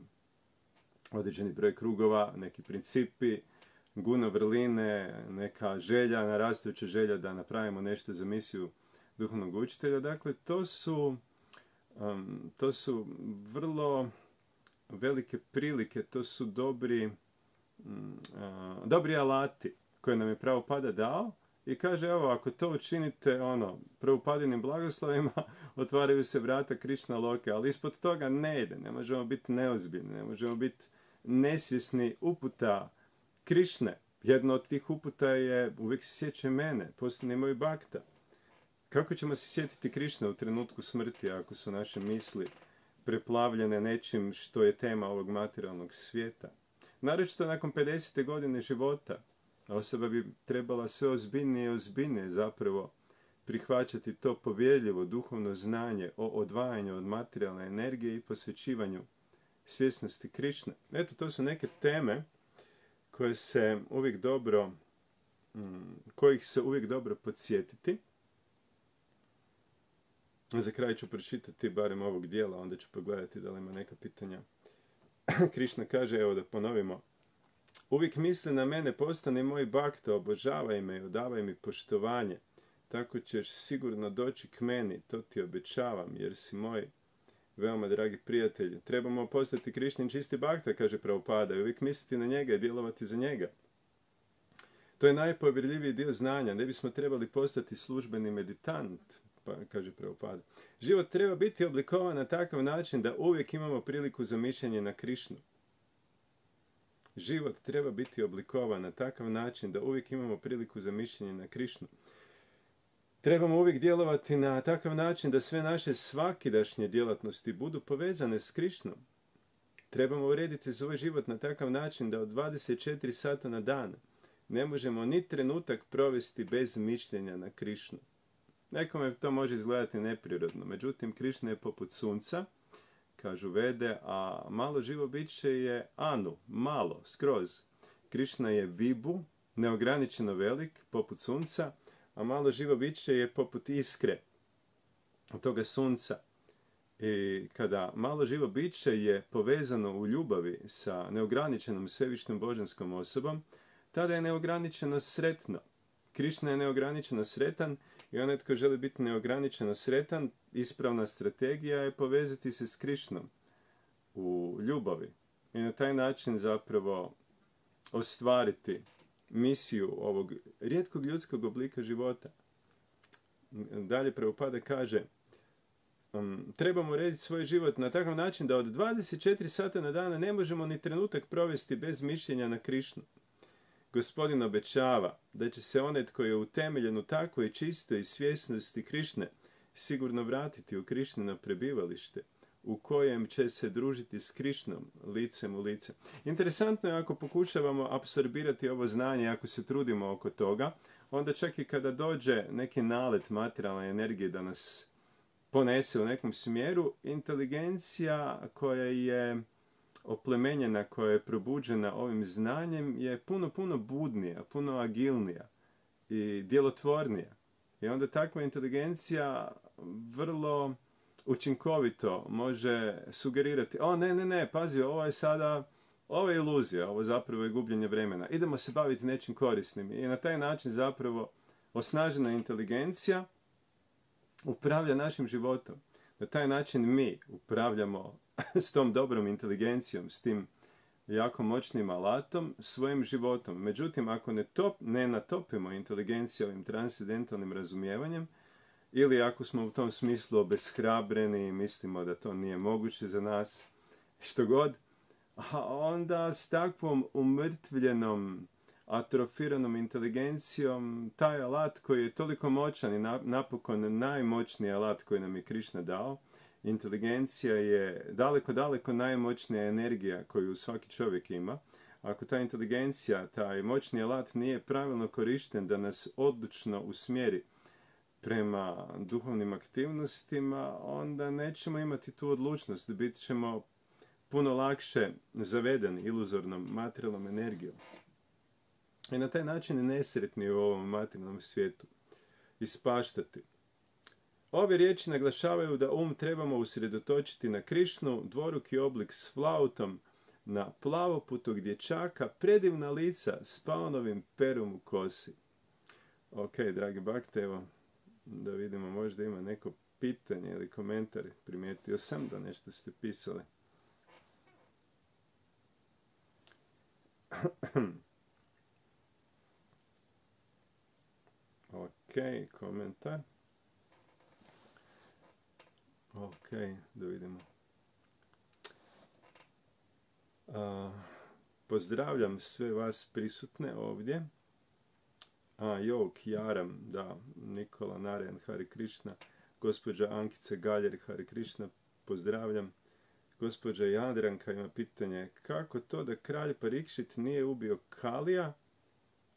određeni broj krugova, neki principi, guna vrline, neka želja, narastajuća želja da napravimo nešto za misiju duhovnog učitelja. Dakle, to su, um, to su vrlo velike prilike, to su dobri, um, uh, dobri alati koje nam je Prabhupada dao i kaže, evo, ako to učinite, ono, Prabhupadinim blagoslovima, otvaraju se vrata Krišna loke, ali ispod toga ne ide, ne možemo biti neozbiljni, ne možemo biti nesvjesni uputa Krišne. Jedno od tih uputa je, uvijek se sjeća mene, postane moj Bhakta. Kako ćemo se sjetiti Krišne u trenutku smrti ako su naše misli preplavljene nečim što je tema ovog materijalnog svijeta? Naročito nakon pedesete godine života, osoba bi trebala sve ozbiljnije i ozbiljnije zapravo prihvaćati to povjerljivo duhovno znanje o odvajanju od materijalne energije i posvećivanju svjesnosti Krišne. Eto, to su neke teme koje se uvijek dobro, kojih se uvijek dobro podsjetiti. Za kraj ću pročitati barem ovog dijela, onda ću pogledati da li ima neka pitanja. Krišna kaže, evo da ponovimo, uvijek misli na mene, postani moj Bhakta, obožavaj me i odavaj mi poštovanje. Tako ćeš sigurno doći k meni, to ti obećavam, jer si moj veoma dragi prijatelj. Trebamo postati Krišnin čisti Bhakta, kaže Prabhupada, i uvijek misliti na njega i djelovati za njega. To je najpovjerljiviji dio znanja. Ne bismo trebali postati službeni meditant, pa kaže Prabhupada. Život treba biti oblikovan na takav način da uvijek imamo priliku za mišljenje na Krišnu. Život treba biti oblikovan na takav način da uvijek imamo priliku za mišljenje na Krišnu. Trebamo uvijek djelovati na takav način da sve naše svakidašnje djelatnosti budu povezane s Krišnom. Trebamo urediti svoj život na takav način da od dvadeset četiri sata na dan ne možemo ni trenutak provesti bez mišljenja na Krišnu. Nekome to može izgledati neprirodno, međutim Krišna je poput sunca, kažu Vede, a malo živo biće je anu, malo, skroz. Krišna je vibu, neograničeno velik, poput sunca, a malo živo biće je poput iskre od toga sunca. I kada malo živo biće je povezano u ljubavi sa neograničenom svevišnjom božanskom osobom, tada je neograničeno sretno. Krišna je neograničeno sretan i onaj tko želi biti neograničeno sretan, ispravna strategija je povezati se s Krišnom u ljubavi i na taj način zapravo ostvariti misiju ovog rijetkog ljudskog oblika života. Dalje Prabhupada kaže, um, trebamo urediti svoj život na takav način da od dvadeset četiri sata na dana ne možemo ni trenutak provesti bez mišljenja na Krišnu. Gospodin obećava da će se onaj tko je utemeljen u takvoj čistoj svjesnosti Krišne sigurno vratiti u Krišnino prebivalište, u kojem će se družiti s Krišnom licem u lice. Interesantno je ako pokušavamo apsorbirati ovo znanje, ako se trudimo oko toga, onda čak i kada dođe neki nalet materijalne energije da nas ponese u nekom smjeru, inteligencija koja je oplemenjena, koja je probuđena ovim znanjem je puno, puno budnija, puno agilnija i djelotvornija. I onda takva inteligencija vrlo učinkovito može sugerirati, o ne, ne, ne, pazi, ovo je sada, ovo je iluzija, ovo zapravo je gubljenje vremena. Idemo se baviti nečim korisnim. I na taj način zapravo osnažena inteligencija upravlja našim životom. Na taj način mi upravljamo s tom dobrom inteligencijom, s tim jako moćnim alatom, svojim životom. Međutim, ako ne, top, ne natopimo inteligenciju ovim transcendentalnim razumijevanjem, ili ako smo u tom smislu obeshrabreni i mislimo da to nije moguće za nas, što god, a onda s takvom umrtvljenom, atrofiranom inteligencijom, taj alat koji je toliko moćan i napokon najmoćniji alat koji nam je Krišna dao, inteligencija je daleko, daleko najmoćnija energija koju svaki čovjek ima. Ako ta inteligencija, taj moćni alat nije pravilno korišten da nas odlučno usmjeri prema duhovnim aktivnostima, onda nećemo imati tu odlučnost, bit ćemo puno lakše zavedeni iluzornom materijalnom energijom. I na taj način nesretni u ovom materijalnom svijetu ispaštati. Ove riječi naglašavaju da um trebamo usredotočiti na Krišnu, dvoruki oblik s flautom, na plavoputog dječaka, predivna lica s paunovim perom u kosi. Ok, dragi bakte, evo da vidimo, možda ima neko pitanje ili komentar. Primijetio sam da nešto ste pisali. Ok, komentar. Ok, da vidimo. Uh, pozdravljam sve vas prisutne ovdje. A, jo, Kjaram, da, Nikola Narayan, Hare Krishna, gospođa Ankica Galjer, Hare Krishna, pozdravljam. Gospođa Jadranka ima pitanje, kako to da kralj Parikšit nije ubio Kalija,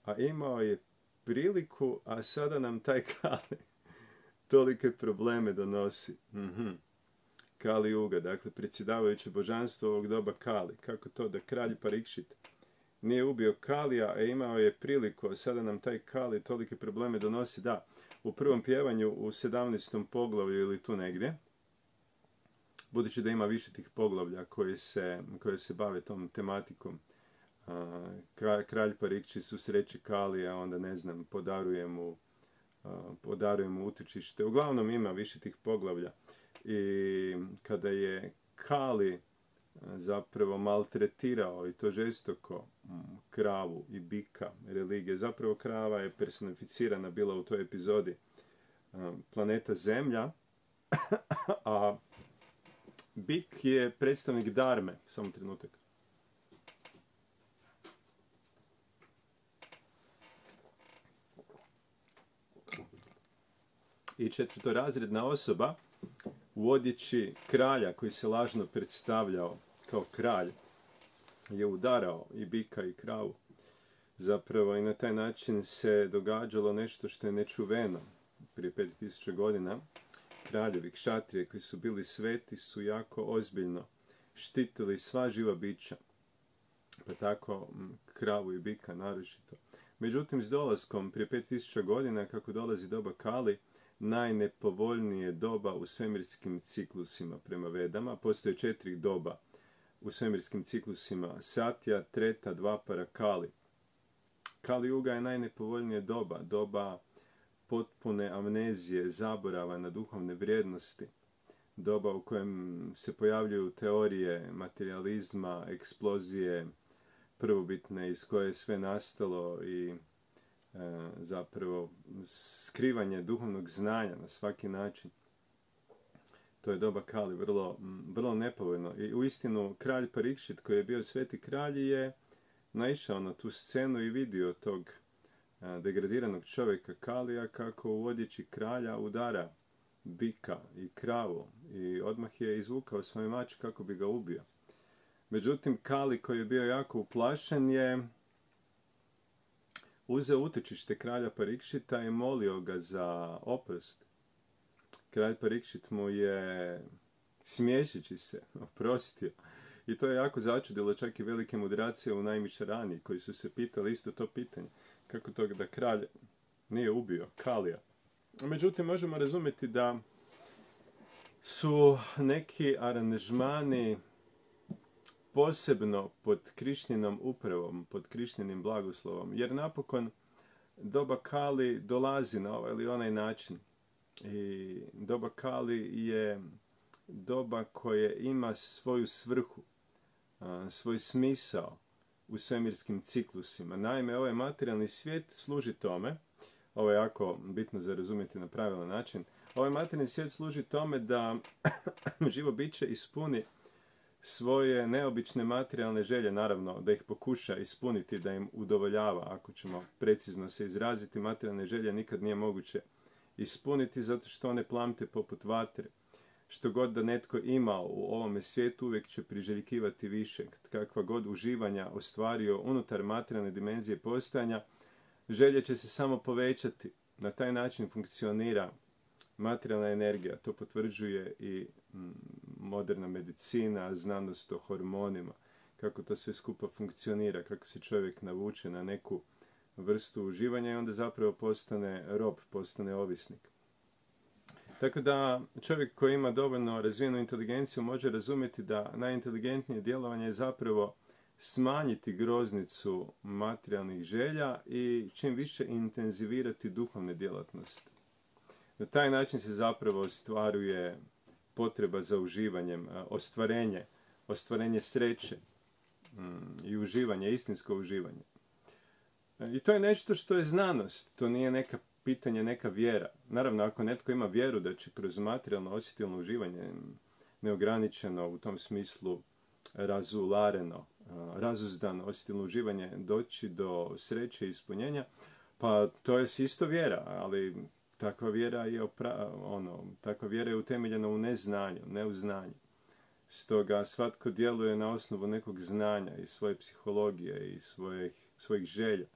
a imao je priliku, a sada nam taj Kali tolike probleme donosi. Mm-hmm. Kali Juga, dakle predsjedavajuće božanstvo ovog doba Kali. Kako to da kralj Parikšit nije ubio Kalija, a imao je priliku, a sada nam taj Kali tolike probleme donosi? Da, u prvom pjevanju u sedamnaestom poglavlju ili tu negdje, budući da ima više tih poglavlja koje se, koje se bave tom tematikom, kralj Parikšit susreće Kalija, onda ne znam, podaruje mu, podaruje mu utočište. Uglavnom ima više tih poglavlja. I kada je Kali zapravo maltretirao i to žestoko kravu i bika religije, zapravo krava je personificirana bila u toj epizodi planeta Zemlja, a bik je predstavnik Dharme. Samo trenutak. I četvrtorazredna osoba u odjeći kralja koji se lažno predstavljao kao kralj je udarao i bika i kravu. Zapravo i na taj način se događalo nešto što je nečuveno. Prije pet tisuća godina kraljevi kšatrije koji su bili sveti su jako ozbiljno štitili sva živa bića, pa tako kravu i bika naročito. Međutim, s dolaskom prije pet tisuća godina, kako dolazi doba Kali, najnepovoljnije doba u svemirskim ciklusima prema Vedama. Postoje četiri doba u svemirskim ciklusima: Satya, Treta, Dvapara, Kali. Kali Juga je najnepovoljnije doba, doba potpune amnezije, zaborava na duhovne vrijednosti, doba u kojem se pojavljuju teorije materializma, eksplozije prvobitne iz koje je sve nastalo i e, zapravo skrivanje duhovnog znanja na svaki način. To je doba Kali, vrlo, vrlo nepovoljno. I uistinu kralj Parikšit, koji je bio sveti kralj, je naišao na tu scenu i vidio tog degradiranog čovjeka Kalija kako u odjeći kralja udara bika i kravu i odmah je izvukao svoj mač kako bi ga ubio. Međutim, Kali, koji je bio jako uplašen, je uzeo utočište kralja Parikšita i molio ga za oprost. Kralj Parikšit mu je, smiješeći se, oprostio. I to je jako začudilo čak i velike mudracije u Najmišarani, koji su se pitali isto to pitanje. Kako to da kralj nije ubio Kalija? Međutim, možemo razumjeti da su neki aranžmani posebno pod Krišninom upravom, pod Krišninim blagoslovom, jer napokon doba Kali dolazi na ovaj ili onaj način. I doba Kali je doba koje ima svoju svrhu, svoj smisao u svemirskim ciklusima. Naime, ovaj materijalni svijet služi tome, ovo je jako bitno za razumjeti na pravilan način, ovaj materijalni svijet služi tome da živo biće ispuni svoje neobične materijalne želje, naravno, da ih pokuša ispuniti, da im udovoljava. Ako ćemo precizno se izraziti, materijalne želje nikad nije moguće ispuniti, zato što one plamte poput vatre. Što god da netko ima u ovome svijetu, uvijek će priželjkivati više. Kakva god uživanja ostvario unutar materijalne dimenzije postojanja, želje će se samo povećati. Na taj način funkcionira materijalna energija. To potvrđuje i moderna medicina, znanost o hormonima, kako to sve skupa funkcionira, kako se čovjek navuče na neku vrstu uživanja i onda zapravo postane rob, postane ovisnik. Tako da čovjek koji ima dovoljno razvijenu inteligenciju može razumjeti da najinteligentnije djelovanje je zapravo smanjiti groznicu materijalnih želja i čim više intenzivirati duhovne djelatnosti. Na taj način se zapravo ostvaruje potreba za uživanjem, ostvarenje, ostvarenje sreće i uživanje, istinsko uživanje. I to je nešto što je znanost, to nije neka pitanje, neka vjera. Naravno, ako netko ima vjeru da će kroz materijalno osjetilno uživanje, neograničeno u tom smislu razulareno, razuzdano osjetilno uživanje, doći do sreće i ispunjenja, pa to je isto vjera, ali takva vjera je, opra, ono, takva vjera je utemeljena u neznanju, ne u znanju. Stoga svatko djeluje na osnovu nekog znanja i svoje psihologije i svojih, svojih želja.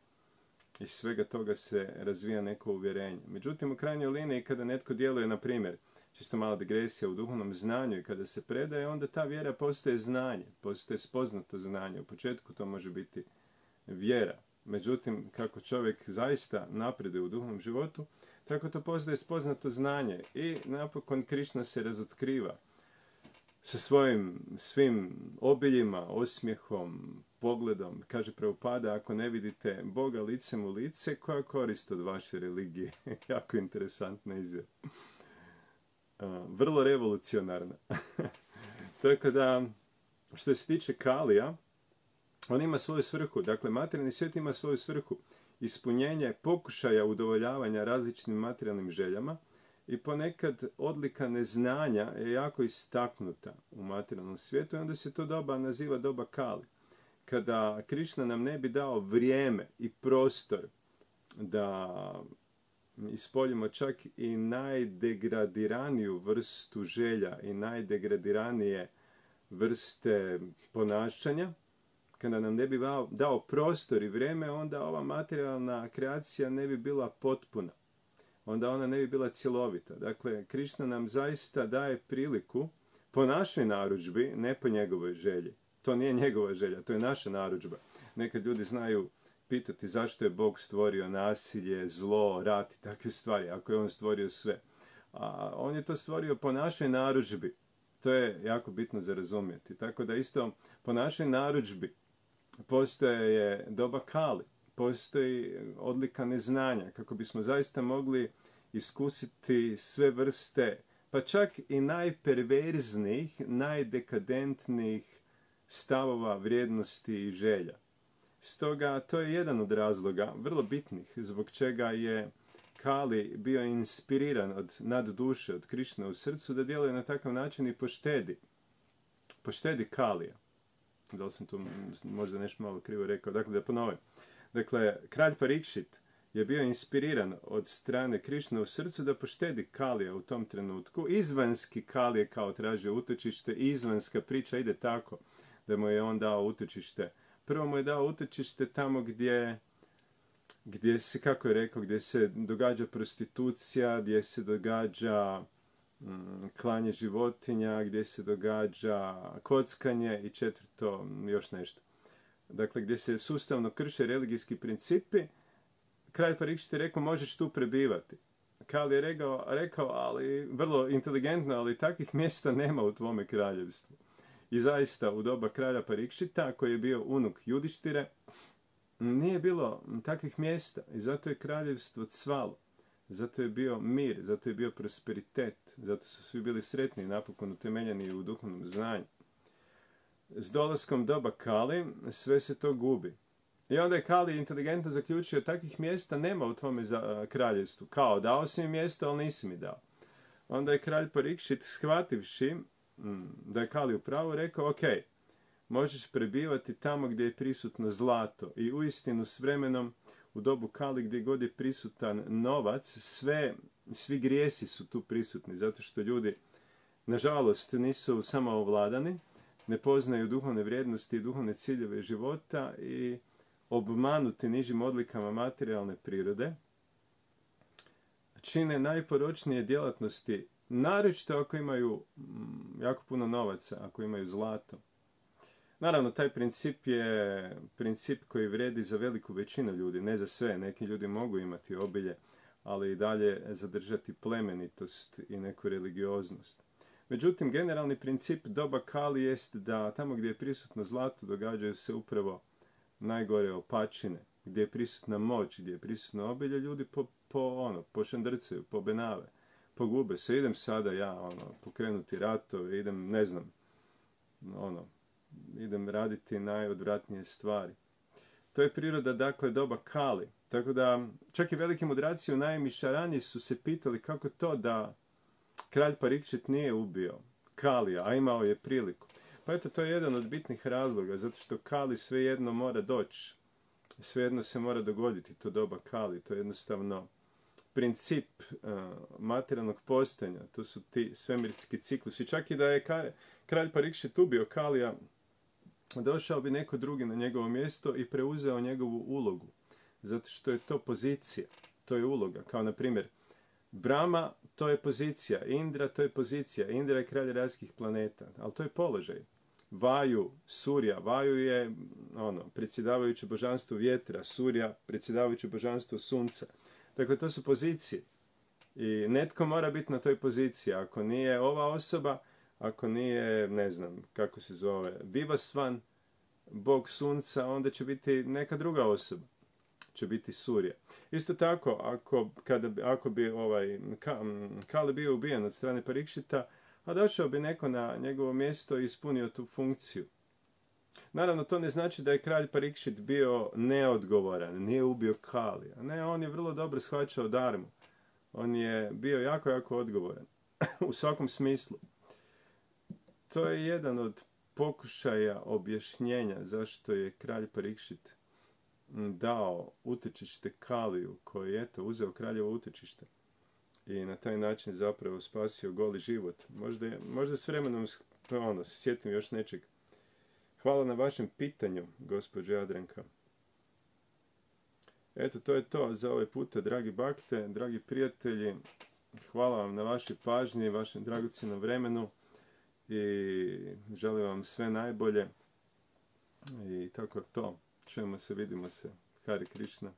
Iz svega toga se razvija neko uvjerenje. Međutim, u krajnjoj liniji, kada netko djeluje, na primjer, čisto mala digresija, u duhovnom znanju i kada se predaje, onda ta vjera postaje znanje, postaje spoznato znanje. U početku to može biti vjera. Međutim, kako čovjek zaista napreduje u duhovnom životu, tako to postaje spoznato znanje i napokon Krišna se razotkriva sa svojim svim obiljima, osmijehom, pogledom. Kaže Prabhupada, ako ne vidite Boga licem u lice, koja korist od vaše religije? Jako interesantna izjava. Vrlo revolucionarna. Tako da, što se tiče Kalija, on ima svoju svrhu. Dakle, materijalni svijet ima svoju svrhu. Ispunjenje pokušaja udovoljavanja različitim materijalnim željama i ponekad odlika neznanja je jako istaknuta u materijalnom svijetu i onda se to doba naziva doba Kali. Kada Krišna nam ne bi dao vrijeme i prostor da ispoljimo čak i najdegradiraniju vrstu želja i najdegradiranije vrste ponašanja, kada nam ne bi dao prostor i vrijeme, onda ova materijalna kreacija ne bi bila potpuna. Onda ona ne bi bila cjelovita. Dakle, Krišna nam zaista daje priliku po našoj narudžbi, ne po njegovoj želji. To nije njegova želja, to je naša narudžba. Nekad ljudi znaju pitati zašto je Bog stvorio nasilje, zlo, rat i takve stvari, ako je on stvorio sve. A on je to stvorio po našoj narudžbi. To je jako bitno za razumjeti. Tako da isto po našoj narudžbi postoje doba Kali, postoji odlika neznanja, kako bismo zaista mogli iskusiti sve vrste, pa čak i najperverznijih, najdekadentnijih stavova, vrijednosti i želja. Stoga to je jedan od razloga, vrlo bitnih, zbog čega je Kali bio inspiriran od nadduše, od Krišne u srcu, da djeluje na takav način i poštedi. Poštedi Kalija. Da li sam tu možda nešto malo krivo rekao? Dakle, da ponovim. Dakle, kralj Parikšit je bio inspiriran od strane Krišne u srcu da poštedi Kalija u tom trenutku. Izvanski Kalije kao tražio utočište, izvanska priča ide tako da mu je on dao utočište. Prvo mu je dao utočište tamo gdje, gdje se, kako je rekao, gdje se događa prostitucija, gdje se događa mm, klanje životinja, gdje se događa kockanje i četvrto, još nešto. Dakle, gdje se sustavno krše religijski principi, kralj Parikšit je rekao, možeš tu prebivati. Kali je rekao, rekao, ali vrlo inteligentno, ali takvih mjesta nema u tvome kraljevstvu. I zaista, u doba kralja Parikšita, koji je bio unuk Judištire, nije bilo takvih mjesta i zato je kraljevstvo cvalo. Zato je bio mir, zato je bio prosperitet, zato su svi bili sretni i napokon utemeljeni u duhovnom znanju. S dolaskom doba Kali sve se to gubi. I onda je Kali inteligentno zaključio, takvih mjesta nema u tvome kraljevstvu. Kao, dao si mi mjesto, ali nisi mi dao. Onda je kralj Parikšit, shvativši da je Kali upravo rekao, ok, možeš prebivati tamo gdje je prisutno zlato. I uistinu s vremenom, u dobu Kali gdje god je prisutan novac, sve, svi grijesi su tu prisutni, zato što ljudi, nažalost, nisu samo ovladani, ne poznaju duhovne vrijednosti i duhovne ciljeve života i obmanuti nižim odlikama materijalne prirode, čine najporočnije djelatnosti, naročito ako imaju jako puno novaca, ako imaju zlato. Naravno, taj princip je princip koji vrijedi za veliku većinu ljudi, ne za sve. Neki ljudi mogu imati obilje, ali i dalje zadržati plemenitost i neku religioznost. Međutim, generalni princip doba Kali jest da tamo gdje je prisutno zlato događaju se upravo najgore opačine, gdje je prisutna moć, gdje je prisutno obilje, ljudi po, po ono, pošandrcaju, pobenave, pogube se. Idem sada ja ono, pokrenuti ratove, idem, ne znam, ono, idem raditi najodvratnije stvari. To je priroda, dakle, doba Kali. Tako da, čak i veliki mudraci u Najmišarani su se pitali kako to da kralj Parikšit nije ubio Kalija, a imao je priliku. Pa eto, to je jedan od bitnih razloga, zato što Kali svejedno mora doći. Svejedno se mora dogoditi to doba Kali. To je jednostavno princip uh, materijalnog postojanja. To su ti svemirski ciklusi. Čak i da je kralj Parikšit ubio Kalija, došao bi neko drugi na njegovo mjesto i preuzeo njegovu ulogu. Zato što je to pozicija, to je uloga. Kao na primjer, Brahma, to je pozicija, Indra, to je pozicija. Indra je kralj rajskih planeta, ali to je položaj. Vaju, Surja, Vaju je ono, predsjedavajuće božanstvo vjetra, Surja, predsjedavajuće božanstvo sunca. Dakle, to su pozicije. I netko mora biti na toj poziciji. Ako nije ova osoba, ako nije, ne znam, kako se zove, Vivasvan, bog sunca, onda će biti neka druga osoba. Će biti Surja. Isto tako, ako, kada, ako bi ovaj, Kali bio ubijen od strane Parikšita, a došao bi neko na njegovo mjesto i ispunio tu funkciju. Naravno, to ne znači da je kralj Parikšit bio neodgovoran, nije ubio Kalija. Ne, on je vrlo dobro shvaćao darmu. On je bio jako, jako odgovoran. U svakom smislu. To je jedan od pokušaja objašnjenja zašto je kralj Parikšit dao utočište Kaliju, koji je eto uzeo kraljevo utočište i na taj način zapravo spasio goli život. Možda, možda s vremenom ono, se sjetim još nečeg. Hvala na vašem pitanju, gospođo Jadranka. Eto, to je to za ovaj puta, dragi bakte, dragi prijatelji. Hvala vam na vašoj pažnji, vašem dragocjenom vremenu i želim vam sve najbolje. I tako to. Čujemo se, vidimo se. Hare Krishna.